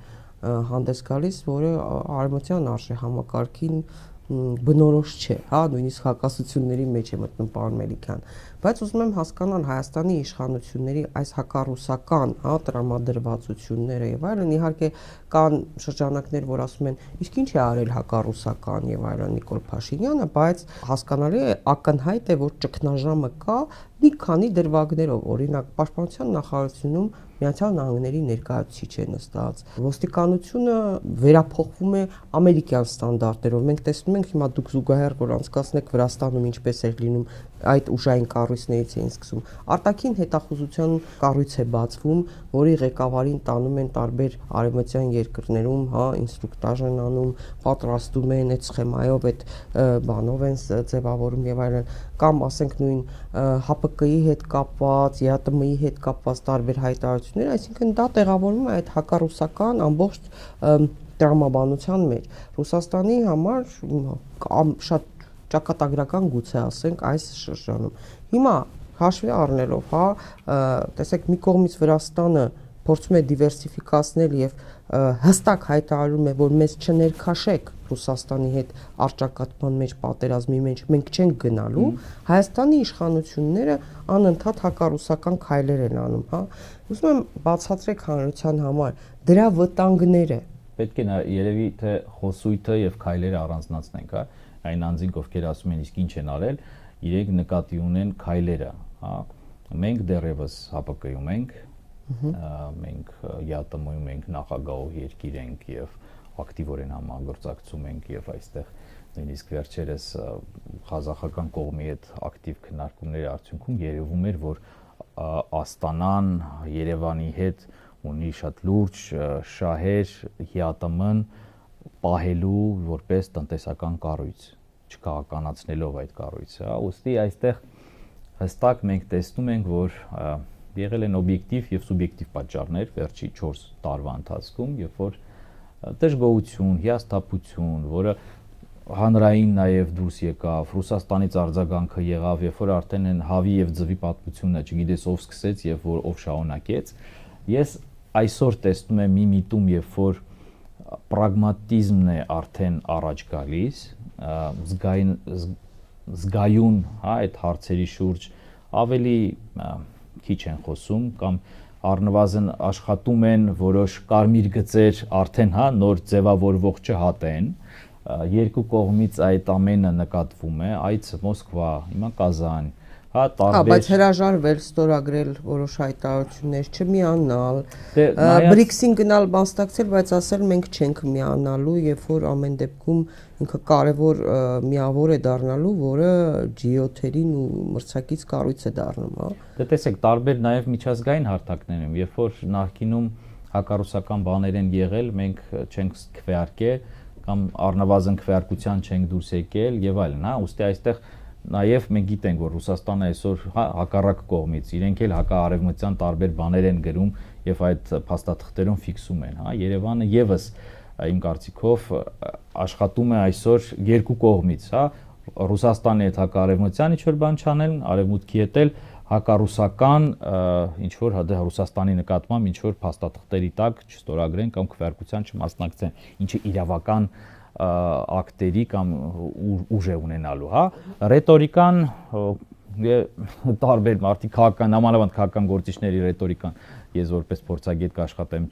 հանդես գալիս, որը արևմտյան արժե համակարգին բնորոշ չէ, հա, նույնիսկ հակասությունների մեջ է մտնում պարոն Մելիքյան, բայց ուզում եմ հասկանալ Հայաստանի իշխանությունների այս հակառուսական, հա, տրամադրվածությունները եւ այլն, իհարկե կան շրջանակներ, որ ասում են, իսկ ինչ է արել հակառուսական եւ այլն Նիկոլ Փաշինյանը, բայց հասկանալի է, ակնհայտ է, որ ճգնաժամը կա մի քանի դրվագներով, օրինակ Պաշտպանության նախարարությունում Միացյալ Նահանգների ներկայացուցիչ է նստած, ոստիկանությունը վերափոխվում է ամերիկյան ստանդարտներով, մենք տեսնում ենք հիմա դուք զուգահեռ որ անցկացնեք Վրաստանում ինչպես էր լինում, այդ ուժային կառույցներից էին սկսում, արտաքին հետախուզության կառույց է բացվում, որի ղեկավարին տանում են տարբեր արևմտյան երկրներում, հա, ինստրուկտաժ են անում, պատրաստում են այդ սխեմայով, այդ բանով են ձևավորում եւ այլն, կամ ասենք նույն ՀԱՊԿ-ի հետ կապված, ԵԱՏՄ-ի հետ կապված տարբեր հայտարարություններ, այսինքն դա տեղավորվում է այդ հակառուսական ամբողջ տրամաբանության մեջ։ Ռուսաստանի համար շատ ճակատագրական գուցե ասենք այս շրջանում։ Հիմա հաշվի առնելով, հա, տեսեք մի կողմից Վրաստանը փորձում է դիվերսիֆիկացնել եւ հստակ հայտարարում է, որ մեզ չներքաշեք Ռուսաստանի հետ առճակատման մեջ, պատերազմի մեջ, մենք չենք գնալու, Հայաստանի իշխանությունները անընդհատ հակառուսական քայլեր են անում, հա։ Ուզում եմ բացատրեք հանրության համար դրա վտանգները։ Պետք է երևի թե խոսույթը եւ քայլերը առանձնացնենք, հա։ Այն անձինք, ովքեր ասում են իսկ ինչ են արել, իրենք նկատի ունեն քայլերը, հա։ Մենք դեռևս ՀԱՊԿ-ում ենք, մենք ԵԱՏՄ-ում ենք, նախագահով երկիր ենք եւ ակտիվորեն համագործակցում ենք եւ այստեղ նույնիսկ վերջերս ղազախական կողմի հետ ակտիվ քննարկումների արդյունքում երևում էր, որ Աստանան Երևանի հետ ունի շատ լուրջ շահեր ԵԱՏՄ-ն պահելու որպես տնտեսական կառույց, չքաղաքականացնելով այդ կառույցը, հա, ուստի այստեղ հստակ մենք տեսնում ենք, որ եղել են օբյեկտիվ եւ սուբյեկտիվ պատճառներ վերջի 4 տարվա ընթացքում, երբ որ դժգոհություն, հիասթափություն, որը հանրային նաև դուրս եկավ, Ռուսաստանից արձագանքը եղավ, երբ որ արդեն են հավի եւ ձվի պատմությունը, չգիտես ով սկսեց եւ ով շարունակեց։ Ես այսօր տեսնում եմ մի միտում, երբ որ պրագմատիզմն է արդեն առաջ գալիս, զգայուն, հա, այդ հարցերի շուրջ ավելի քիչ են խոսում կամ առնվազն աշխատում են որոշ կարմիր գծեր արդեն, հա, նոր ձևավորվող չհատեն, երկու կողմից այդ ամենը նկատվում է, այց Մոսկվա, հիմա Կազան, հա, տարբեր։ Բայց հրաժարվել, ստորագրել որոշ հայտարարություններ, չմիանալ, BRICS-ին գնալ մասնակցել, բայց ասել մենք չենք միանալու, երբ որ ամեն դեպքում ինքը կարևոր միավոր է դառնալու, որը G7-երին ու մրցակից կառույց է դառնում, հա։ Դե տեսեք, տարբեր նաև միջազգային հարթակներ են, երբ որ նախկինում հակառուսական բաներ են եղել, մենք չենք քվեարկել կամ առնվազն քվեարկության չենք դուրս եկել եւ այլն, հա, ուստի այստեղ նաև մենք գիտենք, որ Ռուսաստանը այսօր հակառակ կողմից իրենք էլ հակաարևմտյան տարբեր բաներ են գրում եւ այդ փաստաթղթերում ֆիքսում են, հա, Երևանը եւս իմ կարծիքով աշխատում է այսօր երկու կողմից, հա, Ռուսաստանի հետ հակաարևմտյան ինչ-որ բան չանել, արևմուտքի հետ էլ հակառուսական ինչ-որ Ռուսաստանի նկատմամբ ինչ-որ փաստաթղթերի տակ չստորագրեն կամ քվեարկության չմասնակցեն, ինչը իրավական ակտերի կամ ուժ է ունենալու, հա, ռետորիկան տարբեր մարդիկ քաղաքական, նամանավանդ քաղաքական գործիչների ռետորիկան ես որպես փորձագետ կաշխատեմ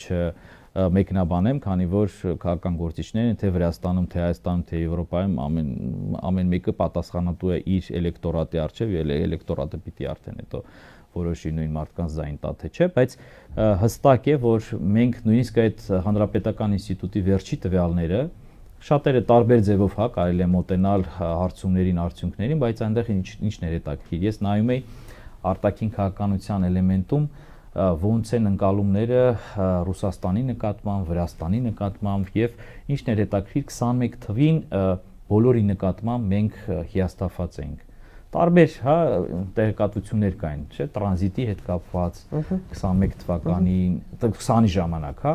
մեկնաբանեմ, քանի որ քաղաքական գործիչներն թե Վրաստանում, թե Հայաստանում, թե Եվրոպայում ամեն մեկը պատասխանատու է իր էլեկտորատի առջև, էլեկտորատը պիտի արդեն հետո որոշի նույն մարդկանց ձայն տա թե չէ, բայց հստակ է, որ մենք նույնիսկ այդ Հանրապետական ինստիտուտի վերջի տվյալները շատերը տարբեր ձևով, հա, կարելի է մոտենալ հարցումներին, արդյունքներին, բայց այնտեղ ինչն էր հետաքրքիր։ Ես նայում էի արտաքին քաղաքականության էլեմենտում ոնց են ընկալումները Ռուսաստանի նկատմամբ, Վրաստանի նկատմամբ եւ ինչն էր հետաքրքիր 21 թվին բոլորի նկատմամբ մենք հիասթափված էինք։ Տարբեր, հա, տեղեկատվություններ կային, չէ, տրանզիտի հետ կապված 21 թվականին, 20-ի ժամանակ, հա,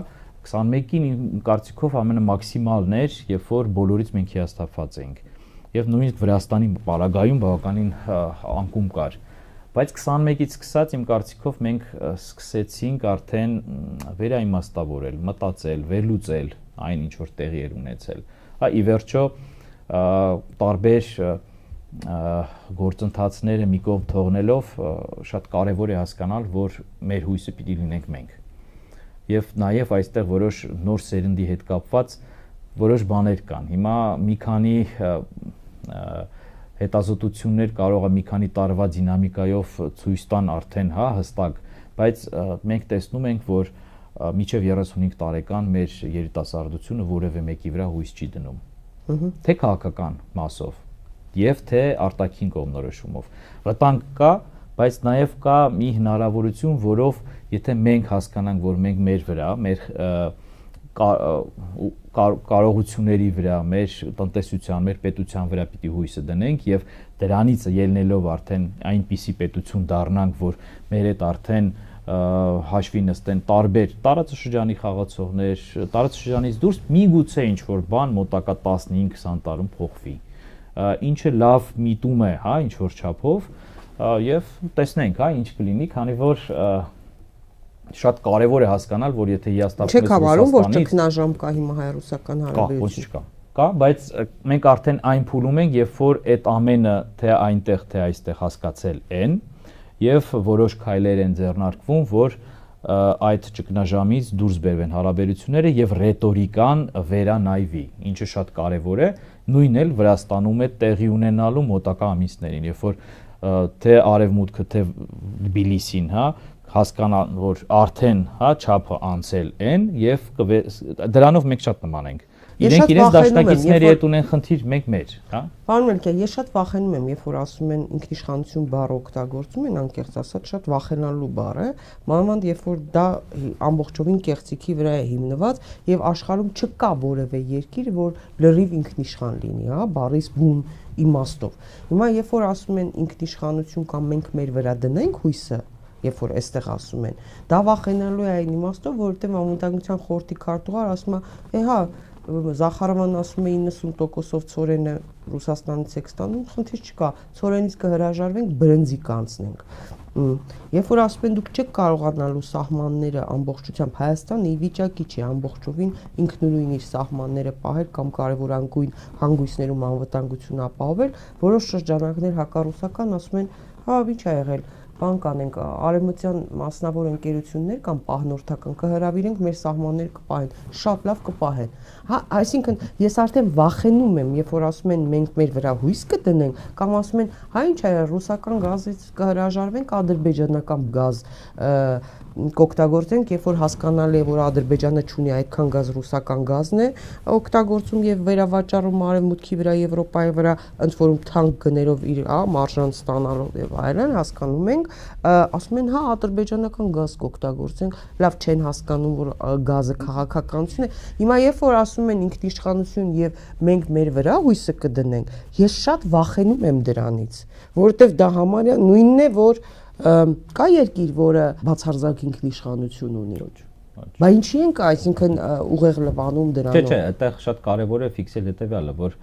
21-ին իմ կարծիքով ամենամաքսիմալն էր, երբ որ բոլորից մենք հիասթափված էինք։ Եվ նույնիսկ Վրաստանի պարագայում բավականին անկում կար։ Բայց 21-ից սկսած իմ կարծիքով մենք սկսեցինք արդեն վերաիմաստավորել, մտածել, վերլուծել այն ինչ որ տեղի էր ունեցել։ Հա, ի վերջո տարբեր գործընթացները մի կողմ թողնելով շատ կարևոր է հասկանալ, որ մեր հույսը պիտի լինենք մենք։ Եվ նաև այստեղ որոշ նոր սերնդի հետ կապված որոշ բաներ կան։ Հիմա մի քանի հետազոտություններ կարող է մի քանի տարվա դինամիկայով ցույց տան արդեն, հա, հստակ, բայց մենք տեսնում ենք, որ մինչև 35 տարեկան մեր երիտասարդությունը որևէ մեկի վրա հույս չի դնում։ Թե քաղաքական մասով եւ թե արտաքին կողմնորոշումով։ Վտանգ կա, բայց նաև կա մի հնարավորություն, որով եթե մենք հասկանանք, որ մենք մեր վրա, մեր կարողությունների վրա, մեր տնտեսության, մեր պետության վրա պիտի հույսը դնենք եւ դրանից ելնելով արդեն այնպիսի պետություն դառնանք, որ մեր հետ արդեն հաշվի նստեն տարբեր տարածաշրջանի խաղացողներ, տարածաշրջանից դուրս միգուցե ինչ որ բան մոտակա 15-20 տարում փոխվի։ Ինչը լավ միտում է, հա, ինչ որ չափով եւ տեսնենք, հա, ինչ կլինի, քանի որ շատ կարևոր է հասկանալ, որ եթե հիասթափվես Չեք հավարում, որ ճգնաժամ կա հիմա հայ-ռուսական հարաբերությունում։ Կա, բայց մենք արդեն այն փուլում ենք, երբ որ այդ ամենը թե այնտեղ, թե այստեղ հասկացել են եւ որոշ քայլեր են ձեռնարկվում, որ այդ ճգնաժամից դուրս բերվեն հարաբերությունները եւ ռետորիկան վերանայվի, ինչը շատ կարեւոր է, նույնն էլ Վրաստանում է տեղի ունենալու մոտակա ամիսներին, երբ որ թե արևմուտքը, թե Թբիլիսին, հա, հասկանան, որ արդեն, հա, չափը անցել են եւ դրանով մենք շատ նման ենք։ Իրենք իրենց դաշնակիցների հետ ունեն խնդիր, մենք մեր, հա։ Պարոն Մելքյան, ես շատ վախենում եմ, երբ որ ասում են ինքնիշխանություն բառը օգտագործում են, անկեղծ ասած, շատ վախենալու բառ է, մանավանդ երբ որ դա ամբողջովին կեղծիքի վրա է հիմնված եւ աշխարհում չկա որևէ երկիր, որ լրիվ ինքնիշխան լինի, հա, բառից բուն իմաստով։ Հիմա երբ որ ասում են ինքնիշխանություն կամ մենք մեր վրա դնենք հույսը, երբ որ այստեղ ասում են, դա վախենալու է այն իմաստով, որովհետեւ անվտանգության խորհրդի քարտուղար ասում է, հա, Զախարովան ասում է 90%-ով ծորենը Ռուսաստանից եք ստանում, խնդիր չկա, ծորենից կհրաժարվենք, բրնձի կանցնենք։ Երբ որ ասում են դուք չեք կարողանալու սահմանները ամբողջությամբ Հայաստանը ի վիճակի չի ամբողջովին ինքնուրույն իր սահմանները պահել կամ կարևորագույն հանգույցներում անվտանգություն ապահովել, որոշ շրջանակներ հակառուսական ասում են, հա, ինչ ա եղել, բան կանենք, արևմտյան մասնավոր ընկերություններ կամ պահնորդական կհրավիրենք մեր սահմանները կպահեն, շատ լավ կպահեն։ Հա, այսինքն ես արդեն վախենում եմ, երբ որ ասում են մենք մեր վրա հույս կդնենք, կամ ասում են, հա ինչ է, ռուսական գազից կհրաժարվենք, ադրբեջանական գազ կօգտագործենք, երբ որ հասկանալի է, որ Ադրբեջանը չունի այդքան գազ, ռուսական գազն է օգտագործում եւ վերավաճառում արևմուտքի վրա, Եվրոպայի վրա, ընդ որում թանկ գներով իր, հա, մարժան ստանալով եւ այլն, հասկանում ենք, ասում են, հա, ադրբեջանական գազ կօգտագործենք, լավ չեն հասկանում, որ գազը քաղաքականություն է։ Հիմա երբ որ ասում են ինքնիշխանություն եւ մենք մեր վրա հույսը կդնենք, ես շատ վախենում եմ դրանից, որովհետեւ դա համարյա նույնն է, որ կա երկիր, որը բացարձակ ինքնիշխանություն ունի։ Բայց ինչի ենք, այսինքն ուղեղ լվանում դրանով։ Չէ, այդտեղ շատ կարևոր է ֆիքսել հետեւյալը, որ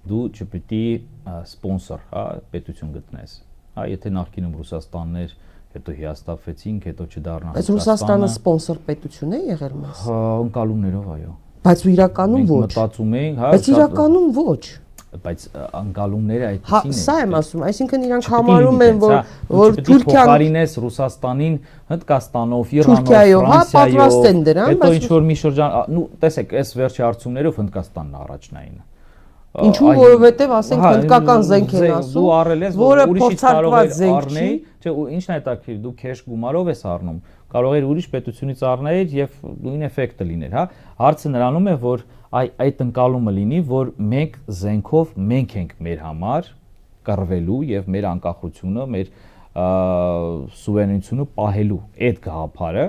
դու չպետք է սպոնսոր, հա, պետություն գտնես։ Հա, եթե նախկինում Ռուսաստաններ, հետո հիասթափվեցինք, հետո չդառնա Ռուսաստանը։ Բայց Ռուսաստանը սպոնսոր պետություն է եղել մեզ։ Հա, ընկալումներով, այո։ Բայց իրականում ոչ։ Մենք մտածում ենք, հա, բայց իրականում ոչ։ Բայց անկալումները այդպեսին են։ Սա եմ ասում, այսինքն իրանք համարում են, որ Թուրքիան փոխարինես Ռուսաստանին Հնդկաստանով, Իրանով, Ֆրանսիայով, հետո ինչ որ մի շրջան, նու տեսեք, այս վերջի հարցումներով Հնդկաստանն առաջնային։ Ինչու, որովհետև ասենք հնդկական զենք են ասում, դու առել ես, որը ուրիշից կարող է զենք առնել, չէ, ինչն է հետաքրքիր, դու քեշ գումարով ես առնում, կարող է ուրիշ պետությունից առնել եւ նույն էֆեկտը լիներ, հա։ Հարցը նրանում է, որ այդ ընկալումը լինի, որ մենք զենքով մենք ենք մեր համար կռվելու եւ մեր անկախությունը, մեր սուվերենությունը պահելու այդ գաղափարը,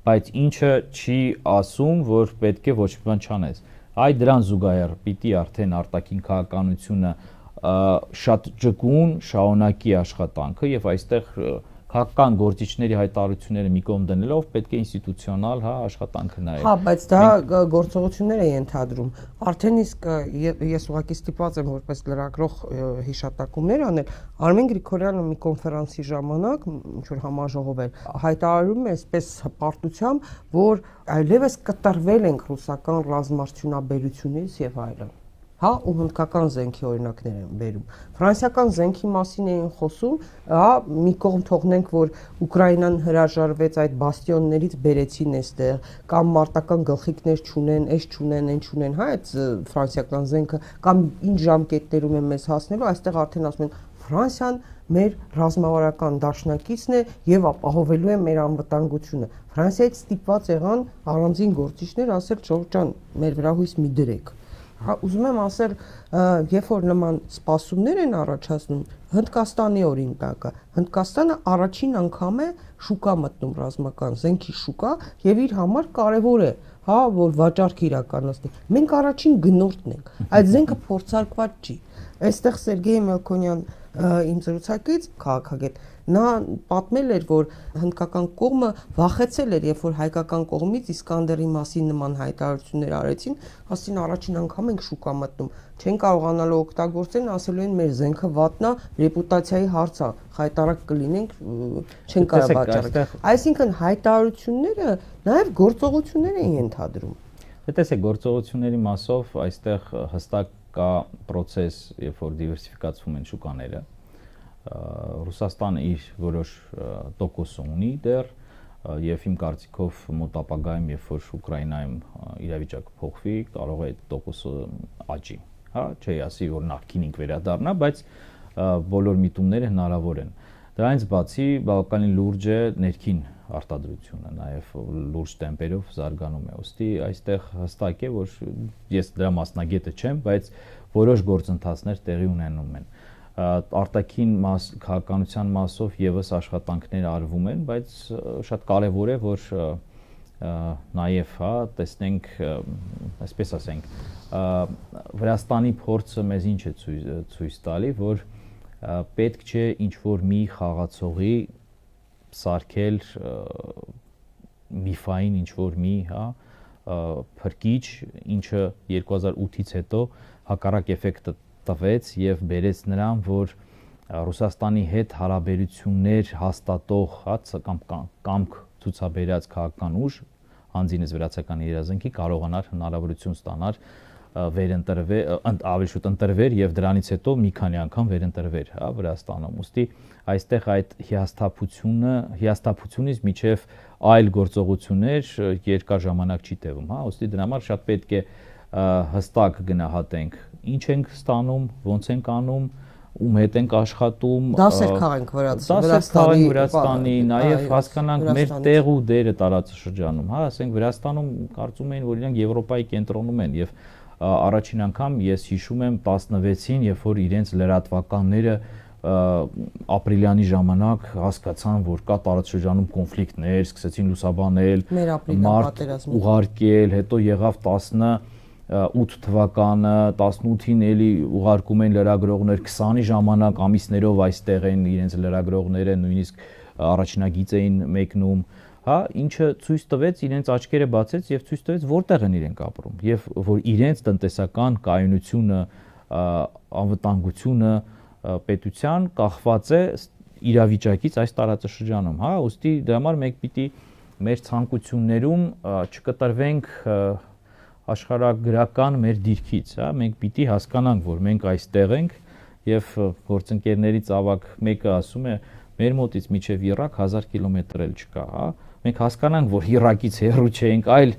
բայց ինչը չի ասում, որ պետք է ոչ մի բան չանես։ Այ դրան զուգահեռ պիտի արդեն արտաքին քաղաքականությունը շատ ճկուն շարունակի աշխատանքը եւ այստեղ քաղաքական գործիչների հայտարարությունները մի կողմ դնելով պետք է ինստիտուցիոնալ, հա, աշխատանքը նայել։ Հա, բայց դա գործողություններ է ենթադրում։ Արդեն իսկ ես ուղղակի ստիպված եմ որպես լրագրող հիշատակումներ անել։ Արմեն Գրիգորյանը մի կոնֆերանսի ժամանակ, ինչ որ համաժողով էր, հայտարարում է այսպես հպարտությամբ, որ այլևս կտրվել ենք ռուսական ռազմարդյունաբերությունից եւ այլն։ Հա, ու հնդկական զենքի օրինակներ են բերում։ Ֆրանսիական զենքի մասին էին խոսում, հա, մի կողմ թողնենք, որ Ուկրաինան հրաժարվեց այդ բաստիոններից բերեցին այստեղ, կամ մարտական գլխիկներ չունեն, այս չունեն, այն չունեն, հա, այդ ֆրանսիական զենքը, կամ ինչ ժամկետներում են մեզ հասնելու, այստեղ արդեն ասում են Ֆրանսիան մեր ռազմավարական դաշնակիցն է եւ ապահովելու է մեր անվտանգությունը։ Ֆրանսիայից ստիպված եղան առանձին գործիչներ ասել, Ջորջան, մեր վրա հույս մի դրեք։ Ուզում եմ ասել, երբ որ նման սպասումներ են առաջացնում, Հնդկաստանի օրինակը, Հնդկաստանը առաջին անգամ է շուկա մտնում ռազմական զենքի շուկա եւ իր համար կարեւոր է, հա, որ վաճառք իրականացնի։ Մենք առաջին գնորդն ենք։ Այդ զենքը փորձարկված չի։ Այստեղ Սերգեյ Մելքոնյան Իմ զրուցակից քաղաքագետ նա պատմել էր, որ հնդկական կողմը վախեցել էր, երբ որ հայկական կողմից Իսկանդերի մասին նման հայտարարություններ արեցին, ասին առաջին անգամ ենք շուկա մտնում, չեն կարողանալու օգտագործեն, ասելու են մեր զենքը վատնա, ռեպուտացիայի հարց է, խայտարակ կլինենք, չեն կարող վաճառել։ Այսինքն հայտարարությունները նաև գործողություններ են ենթադրում։ Տեսեք, գործողությունների մասով այստեղ հստակ կա process, երբ որ դիվերսիֆիկացվում են շուկաները, Ռուսաստանը իր որոշ տոկոս ունի դեռ, եւ իմ կարծիքով մոտ ապագայում, երբ որ Ուկրաինայում իրավիճակը փոխվի, կարող է այդ տոկոսը աճի, հա, չի ասի, որ նախկինին վերադառնա, բայց բոլոր միտումները հնարավոր են։ Դրանից բացի բավականին լուրջ է ներքին արտադրությունը, նաև լուրջ տեմպերով զարգանում է։ Ոստի այստեղ հստակ է, որ ես դրա մասնագետը չեմ, բայց որոշ գործընթացներ տեղի ունենում են։ Արտաքին քաղաքականության մասով եւս աշխատանքներ արվում են, բայց շատ կարեւոր է, որ նաև հա տեսնենք, այսպես ասենք, Վրաստանի փորձը մեզ ինչ է ցույց տալի, որ պետք չէ ինչ-որ մի խաղացողի սարքել միֆային ինչ-որ մի, հա, փրկիչ, ինչը 2008-ից հետո հակառակ էֆեկտը տվեց եւ բերեց նրան, որ Ռուսաստանի հետ հարաբերություններ հաստատող, հա, կամք ցուցաբերած քաղաքական ուժ, անձինս վրացական երազանքի կարողանար հնարավորություն ստանալ վերընտրվել, ավելի շուտ ընտրվեր եւ դրանից հետո մի քանի անգամ վերընտրվեր, հա, Վրաստանում։ Ոստի այստեղ այդ հիասթափությունից միջև այլ գործողություններ երկար ժամանակ չի տևում, հա, ոստի դրա համար շատ պետք է հստակ գնահատենք, ինչ ենք ստանում, ոնց ենք անում, ում հետ ենք աշխատում, դասեր քաղենք Վրաստանի, նաև հասկանանք մեր տեղ ու դերը տարածաշրջանում, հա, ասենք Վրաստանում կարծում էին, որ իրանք Եվրոպայի կենտրոնում են եւ առաջին անգամ ես հիշում եմ 16-ին, երբ որ իրենց լրատվականները ապրիլյանի ժամանակ հասկացան, որ կա տարածաշրջանում կոնֆլիկտներ, սկսեցին լուսաբանել, մարդ ուղարկել, հետո եղավ 18 թվականը, 18-ին էլի ուղարկում են լրագրողներ, 20-ի ժամանակ ամիսներով այստեղ են իրենց լրագրողները, նույնիսկ առաջնագիծ էին մեկնում, հա, ինչը ցույց տվեց, իրենց աչքերը բացեց եւ ցույց տվեց որտեղ են իրենք ապրում եւ որ իրենց տնտեսական կայունությունը, անվտանգությունը պետության կախված է իրավիճակից այս տարածաշրջանում, հա, ուստի դրա համար մենք պիտի մեր ցանկություններում չկտրվենք աշխարհագրական մեր դիրքից, հա, մենք պիտի հասկանանք, որ մենք այստեղ ենք եւ գործընկերներից ավակ մեկը ասում է մեր մոտից միջև Իրաք 1000 կիլոմետր էլ չկա, հա, մենք հասկանանք, որ Իրաքից հեռու չենք, այլ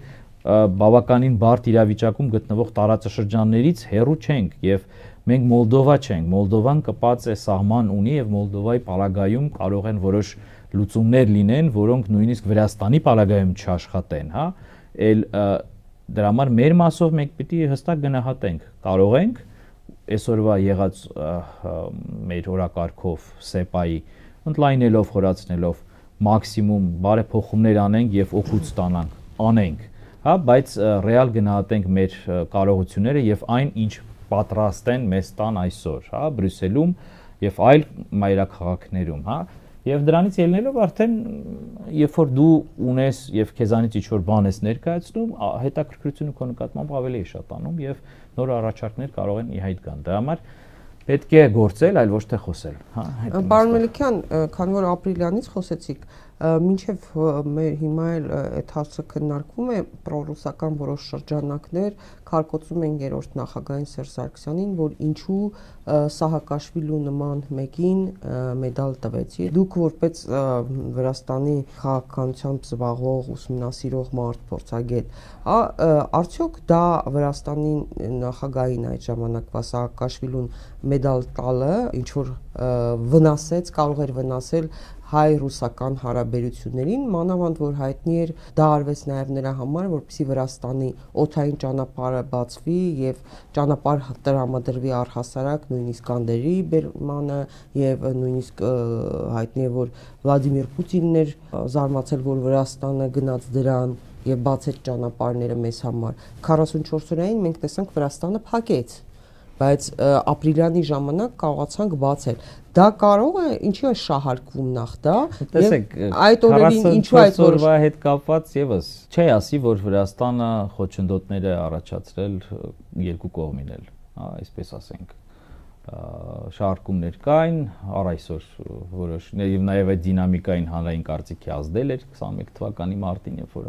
բավականին բարդ իրավիճակում գտնվող տարածաշրջաններից հեռու չենք եւ մենք Մոլդովա չենք, Մոլդովան կպած է սահման ունի եւ Մոլդովայի պարագայում կարող են որոշ լուծումներ լինեն, որոնք նույնիսկ Վրաստանի պարագայում չաշխատեն, հա, դրա համար մեր մասով մենք պիտի հստակ գնահատենք, կարող ենք այսօրվա եղած մեր օրակարգով սեպայի ընդլայնելով, խորացնելով մաքսիմում բարեփոխումներ անենք եւ օգուտ ստանանք, անենք, հա, բայց ռեալ գնահատենք մեր կարողությունները եւ այն, ինչ պատրաստ են մեզ տան այսօր, հա, Բրյուսելում եւ այլ մայրաքաղաքներում, հա, եւ դրանից ելնելով արդեն երբ որ դու ունես եւ քեզանից ինչ-որ բան ես ներկայացնում, հետաքրքրությունը քո նկատմամբ ավելի է շատանում եւ նոր առաջարկներ կարող են ի հայտ գան։ Դրա համար պետք է գործել, այլ ոչ թե խոսել, հա։ Պարոն Մելիքյան, քանի որ ապրիլյանից խոսեցիք, մինչև մեր հիմա էլ այդ հարցը քննարկվում է, պրոռուսական որոշ շրջանակներ քարկոծում են երրորդ նախագահին Սերժ Սարգսյանին, որ ինչու Սահակաշվիլու նման մեկին մեդալ տվեցի։ Դուք որպես Վրաստանի քաղաքականությամբ զբաղվող, ուսումնասիրող մարդ, փորձագետ, արդյոք դա Վրաստանի նախագահին այդ ժամանակվա Սահակաշվիլուն մեդալ տալը ինչ որ վնասեց, կարող էր վնասել հայ-ռուսական հարաբերություններին, մանավանդ որ հայտնի էր դա արվեց նաև նրա համար, որպեսզի Վրաստանի օդային ճանապարհը բացվի եւ ճանապարհ տրամադրվի առհասարակ նույնիսկ Անդերի բերմանը եւ նույնիսկ հայտնի է որ Վլադիմիր Պուտինն էր զարմացել, որ Վրաստանը գնաց դրան եւ բացեց ճանապարհները մեզ համար։ 44 օրային մենք տեսանք Վրաստանը փակեց բայց ապրիլյանի ժամանակ կարողացանք բացել։ Դա կարող է ինչի է շահարկվում նախ դա։ Տեսեք, այդ օրերին ինչու այդ օրվա հետ կապված եւս չի ասի, որ Վրաստանը խոչընդոտներ է առաջացրել երկու կողմին էլ, հա, այսպես ասենք։ Շահարկումներ կային, առ այսօր որոշ եւ նաեւ այդ դինամիկային հանրային կարծիքի ազդել էր 21 թվականի մարտին, երբ որ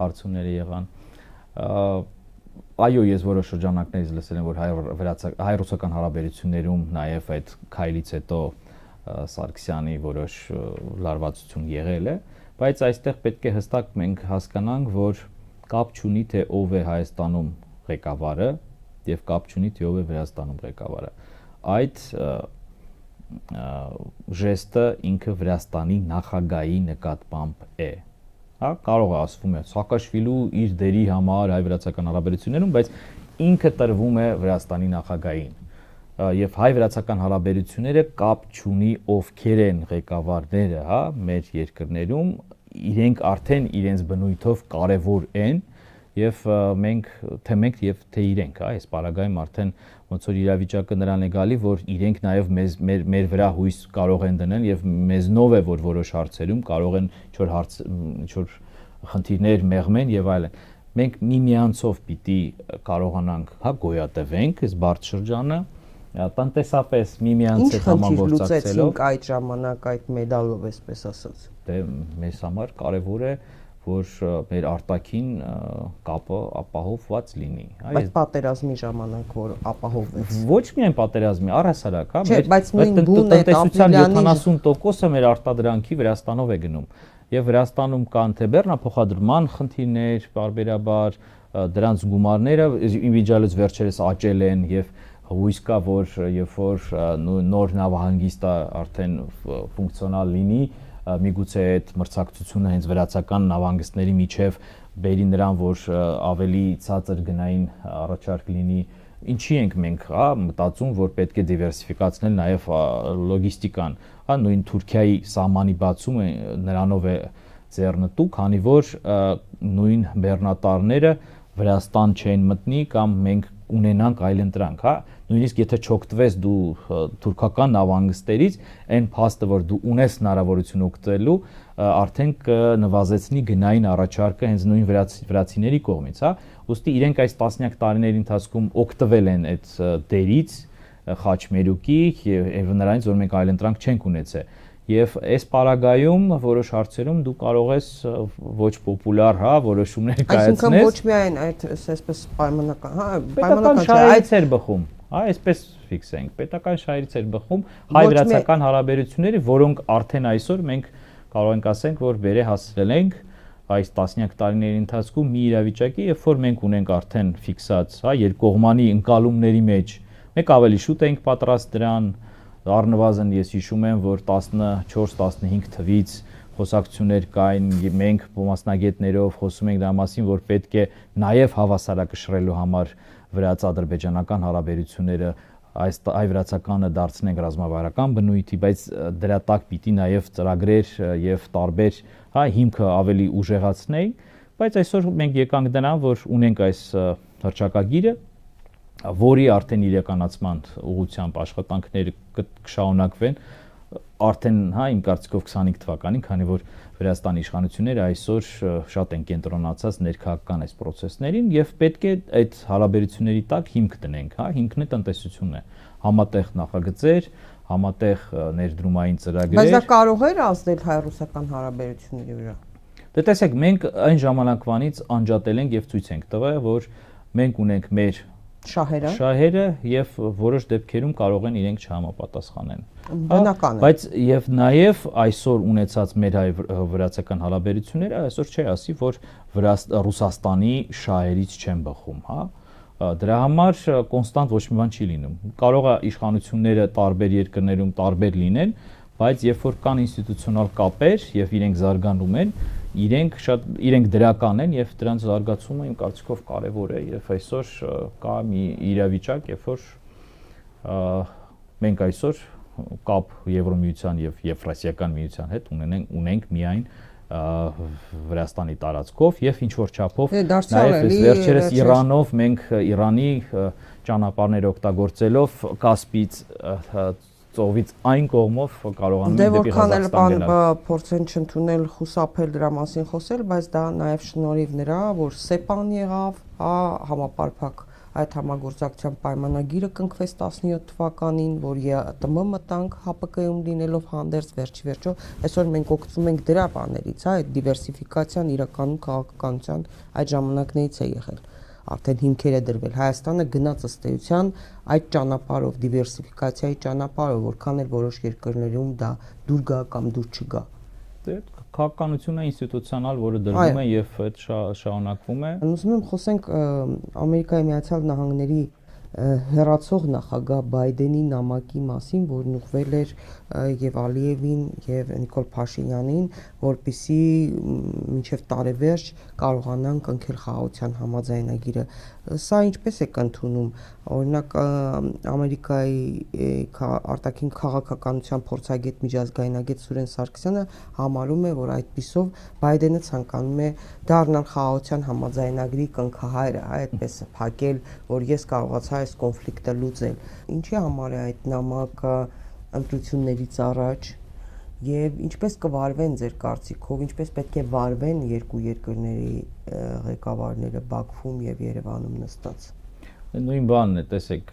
հարցումները եղան։ Այո, ես որոշ շրջանակներից լսել եմ, որ հայ-ռուսական հարաբերություններում նաև այդ քայլից հետո Սարգսյանի որոշ լարվածություն եղել է, բայց այստեղ պետք է հստակ մենք հասկանանք, որ կապ չունի թե ով է Հայաստանում ղեկավարը եւ կապ չունի թե ով է Վրաստանում ղեկավարը։ Այդ ժեստը ինքը Վրաստանի նախագահի նկատմամբ է։ Հա, կարող է ասվում է Սաակաշվիլու իր դերի համար հայ-վրացական հարաբերություններում, բայց ինքը տրվում է Վրաստանի նախագահին։ Եվ հայ-վրացական հարաբերությունները կապ չունի ովքեր են ղեկավարները, հա, մեր երկրներում, իրենք արդեն իրենց բնույթով կարևոր են եւ մենք եւ թե իրենք, հա, այս պարագայում արդեն ոնց որ իրավիճակը նրան է գալի, որ իրենք նաեւ մեր վրա հույս կարող են դնել եւ մեզնով է որ որոշ հարցերում կարող են ինչ-որ խնդիրներ մեղմեն եւ այլն։ Մենք միմյանցով պիտի կարողանանք, հա, գոյատևենք այս բարդ շրջանը, տնտեսապես միմյանց հետ համագործակցելով այդ ժամանակ այդ մեդալով այսպես ասած։ Դե մեզ համար կարևոր է որ մեր արտաքին կապը ապահովված լինի, հա։ Բայց պատերազմի ժամանակ որ ապահովվեց։ Ոչ միայն պատերազմի, առհասարակ, հա, մեր տնտեսության 70%-ը մեր արտադրանքի Վրաստանով է գնում։ Եւ Վրաստանում կան թե բեռնափոխադրման խնդիրներ, բարբերաբար դրանց գումարները ինդիվիդուալից վերջերս աճել են եւ հույս կա որ երբ որ նոր նավահանգիստը արդեն ֆունկցիոնալ լինի, միգուցե այդ մրցակցությունը հենց վրացական նավահանգիստների միջև բերի նրան, որ ավելի ցածր գնային առաջարկ լինի, ինչի ենք մենք, հա, մտածում, որ պետք է դիվերսիֆիկացնել նաև լոգիստիկան, հա, նույն Թուրքիայի սահմանի բացումը նրանով է ձեռնտու, քանի որ նույն բեռնատարները Վրաստան չեն մտնի կամ մենք ունենանք այլընտրանք, հա, նույնիսկ եթե չօգտվես դու թուրքական նավահանգստերից, այն փաստը, որ դու ունես հնարավորություն օգտվելու, արդեն կնվազեցնի գնային առաջարկը հենց նույն վրացիների կողմից, հա, ուստի իրենք այս տասնյակ տարիների ընթացքում օգտվել են այդ դերից, խաչմերուկի եւ նրանից, որ մենք այլընտրանք չենք ունեցել։ Եվ այս պարագայում որոշ հարցերում դու կարող ես ոչ պոպուլար, հա, որոշումներ կայացնել։ Այսինքն ոչ միայն այդ այսպես պայմանական, հա, պայմանական շահերից էր բխում, հա, այսպես ֆիքսենք, պետական շահերից էր բխում հայ-վրացական հարաբերությունները, որոնք արդեն այսօր մենք կարող ենք ասենք, որ վեր հասցրել ենք այս տասնյակ տարիների ընթացքում մի իրավիճակի, երբ որ մենք ունենք արդեն ֆիքսած, հա, երկկողմանի ընկալումների մեջ, մենք ավելի շուտ ենք պատրաստ դրան, առնվազն ես հիշում եմ, որ 14-15 թվից խոսակցություններ կային, մենք մասնագետներով խոսում ենք դրա մասին, որ պետք է նաև հավասարակշռելու համար վրաց-ադրբեջանական հարաբերությունները հայ-վրացականը դարձնենք ռազմավարական բնույթի, բայց դրա տակ պիտի նաև ծրագրեր եւ տարբեր, հա, հիմքը ավելի ուժեղացնենք, բայց այսօր մենք եկանք դրան, որ ունենք այս հռչակագիրը, որի արդեն իրականացման ուղղությամբ աշխատանքները կշարունակվեն արդեն, հա, իմ կարծիքով 25 թվականին, քանի որ Վրաստանի իշխանությունները այսօր շատ են կենտրոնացած ներքաղաքական այս process-ներին եւ պետք է այդ հարաբերությունների տակ հիմք դնենք, հա, հիմքն է տնտեսությունն է, համատեղ նախագծեր, համատեղ ներդրումային ծրագրեր։ Բայց դա կարող է ազդել հայ-ռուսական հարաբերությունների վրա։ Դե տեսեք, մենք այն ժամանակվանից անջատել ենք եւ ցույց ենք տվել, որ մենք ունենք մեր շահերը եւ որոշ դեպքերում կարող են իրենք չհամապատասխանեն։ Բնական է։ Բայց եւ նաեւ այսօր ունեցած մեր հայ-վրացական հարաբերությունները այսօր չի ասի, որ Ռուսաստանի շահերից չեն բխում, հա։ Դրա համար կոնստանտ ոչ մի բան չի լինում։ Կարող է իշխանությունները տարբեր երկրներում տարբեր լինեն, բայց երբ որ կան ինստիտուցիոնալ կապեր եւ իրենք զարգանում են, իրենք դրական են եւ դրանց զարգացումը իմ կարծիքով կարեւոր է եւ այսօր կա մի իրավիճակ, երբ որ մենք այսօր կապ Եվրոմիության եւ Եվրասիական միության հետ ունենք միայն Վրաստանի տարածքով եւ ինչ որ չափով նաեւ վերջերս Իրանով մենք Իրանի ճանապարհներ օգտագործելով Կասպից ծովից այն կողմով կարողանում ենք դեպի Ղազախստան գնալ։ Փորձեն չընդունել խուսափել դրա մասին խոսել, բայց դա նաեւ շնորհիվ նրա, որ ՍԵՊԱ-ն եղավ, համապարփակ այդ համագործակցության պայմանագիրը կնքվեց 17 թվականին, որ ԵԱՏՄ մտանք ՀԱՊԿ-ում լինելով հանդերձ վերջիվերջո, այսօր մենք օգտվում ենք դրա բաներից, այդ դիվերսիֆիկացիան իրականում քաղաքականության այդ ժամանակներից է եղել։ Արդեն հիմքեր է դրվել։ Հայաստանը գնաց ըստ էության այդ ճանապարհով, դիվերսիֆիկացիայի ճանապարհով, որքան էլ որոշ երկրներում դա դուր գա կամ դուր չգա։ Քաղաքականությունը ինստիտուցիոնալ, որը դրվում է եւ այդ շարունակվում է։ Ուզում եմ խոսենք Ամերիկայի Միացյալ Նահանգների հեռացող նախագահ Բայդենի նամակի մասին, որն ուղղվել էր եւ Ալիևին եւ Նիկոլ Փաշինյանին, որպիսի մինչեւ տարեվերջ կարողանան կնքել խաղաղության համաձայնագիրը։ Սա ինչպես է կընդունում։ Օրինակ Ամերիկայի արտաքին քաղաքականության փորձագետ միջազգայնագետ Սուրեն Սարգսյանը համարում է, որ այդպիսով Բայդենը ցանկանում է դառնալ խաղաղության համաձայնագրի կնքահայրը, այդպես է փակել, որ ես կարողացա այս կոնֆլիկտը լուծել։ Ինչի համար է այդ նամակը ընտրություններից առաջ եւ ինչպես կվարվեն ձեր կարծիքով, ինչպես պետք է վարվեն երկու երկրների ղեկավարները Բաքվում եւ Երևանում նստած։ Նույն բանն է, տեսեք,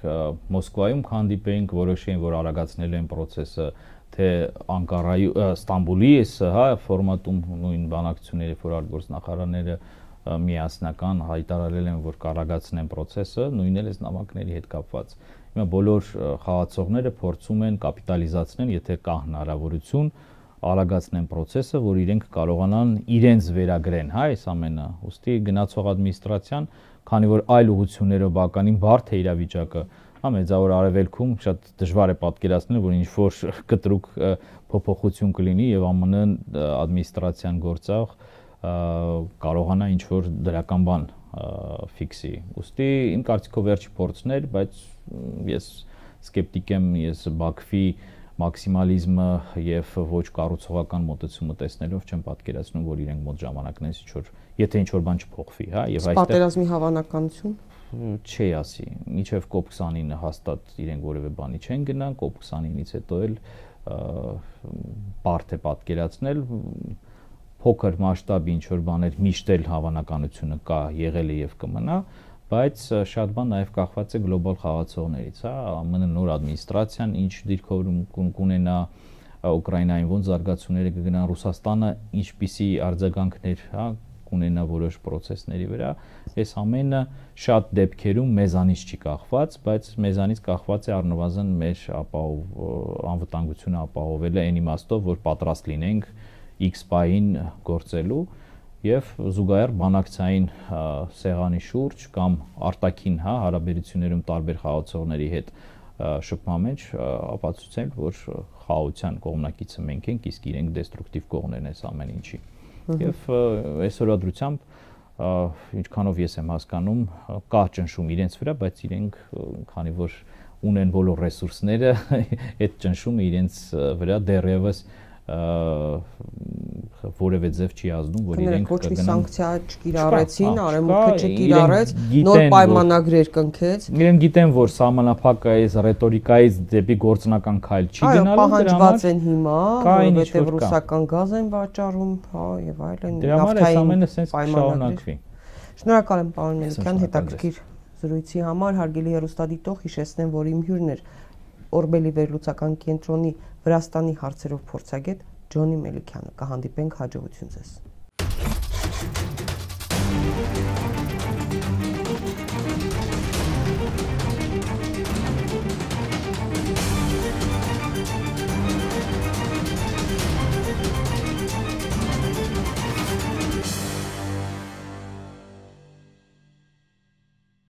Մոսկվայում հանդիպեինք, որոշեին, որ արագացնել են process-ը, թե Անկարայի, Ստամբուլի ֆորմատում նույն բանակցությունները, որ արտգործնախարարները միասնական հայտարարել են, որ կարագացնեն process-ը, նույնն էլ էս նամակների հետ կապված։ Հիմա բոլոր խաղացողները փորձում են կապիտալիզացնել, եթե կա հնարավորություն, արագացնեն process-ը, որ իրենք կարողանան իրենց վերագրեն, այս ամենը։ Ուստի գնացող ադմինիստրացիան, քանի որ այլ ուղղություններով բավականին բարդ է իրավիճակը, մեծավոր արևելքում շատ դժվար է պատկերացնել, որ ինչ որ կտրուկ փոփոխություն կլինի եւ ԱՄՆ ադմինիստրացիան գործող կարողանա ինչ որ դրական բան ֆիքսի։ Ուստի իմ կարծիքով վերջի փորձն էր, բայց ես սկեպտիկ եմ, ես Բաքվի մաքսիմալիզմը եւ ոչ կառուցողական մոտեցումը տեսնելով չեմ պատկերացնում, որ իրենք մոտ ժամանակներից ինչ որ, եթե ինչ որ բան չփոխվի, եւ այստեղ պատերազմի հավանականություն չի ասի, մինչև COP29-ը հաստատ իրենք որևէ բանի չեն գնան, COP29-ից հետո էլ բարդ է պատկերացնել, փոքր մասշտաբի ինչ որ բաներ միշտ էլ հավանականությունը կա, եղել է եւ կմնա, բայց շատ բան նաեւ կախված է գլոբալ խաղացողներից, ԱՄՆ նոր ադմինիստրացիան ինչ դիրքորում կունենա, Ուկրաինային ոնց զարգացումները կգնան, Ռուսաստանը ինչպիսի արձագանքներ, կունենա որոշ process-ների վրա, այս ամենը շատ դեպքերում մեզանից չի կախված, բայց մեզանից կախված է առնվազն մեր անվտանգությունը ապահովելը այն իմաստով, որ պատրաստ լինենք X պահին գործելու եւ զուգահեռ բանակցային սեղանի շուրջ կամ արտաքին հարաբերություններում տարբեր խաղացողների հետ շփման մեջ ապացուցենք, որ խաղաղության կողմնակիցը մենք ենք, իսկ իրենք դեստրուկտիվ կողմներն են այս ամեն ինչի։ Եվ այսօրվա դրությամբ ինչքանով ես եմ հասկանում, կա ճնշում իրենց վրա, բայց իրենք քանի որ ունեն բոլոր ռեսուրսները, այդ ճնշումը իրենց վրա դեռևս որևէ ձև չի ազդում, որ իրենք ոչ մի սանկցիա չկիրառեցին, արևմուտքը չկիրառեց, նոր պայմանագրեր կնքեց։ Իրենք գիտեն, որ սահմանափակը այս ռետորիկայից դեպի գործնական քայլ չի գնալու, պահանջված են հիմա, որովհետև ռուսական գազ են վաճառում, եւ այլն, դրա համար այս ամենը սենց կշարունակվի։ Շնորհակալ եմ պարոն Մելիքյան հետաքրքիր զրույցի համար, հարգելի հեռուստադիտող, հիշեցնեմ, որ իմ հյուրն էր Օրբելի վերլուծական կենտրոնի Վրաստանի հարցերով փորձագետ Ջոնի Մելիքյանը։ Կհանդիպենք հաջողություն ձեզ։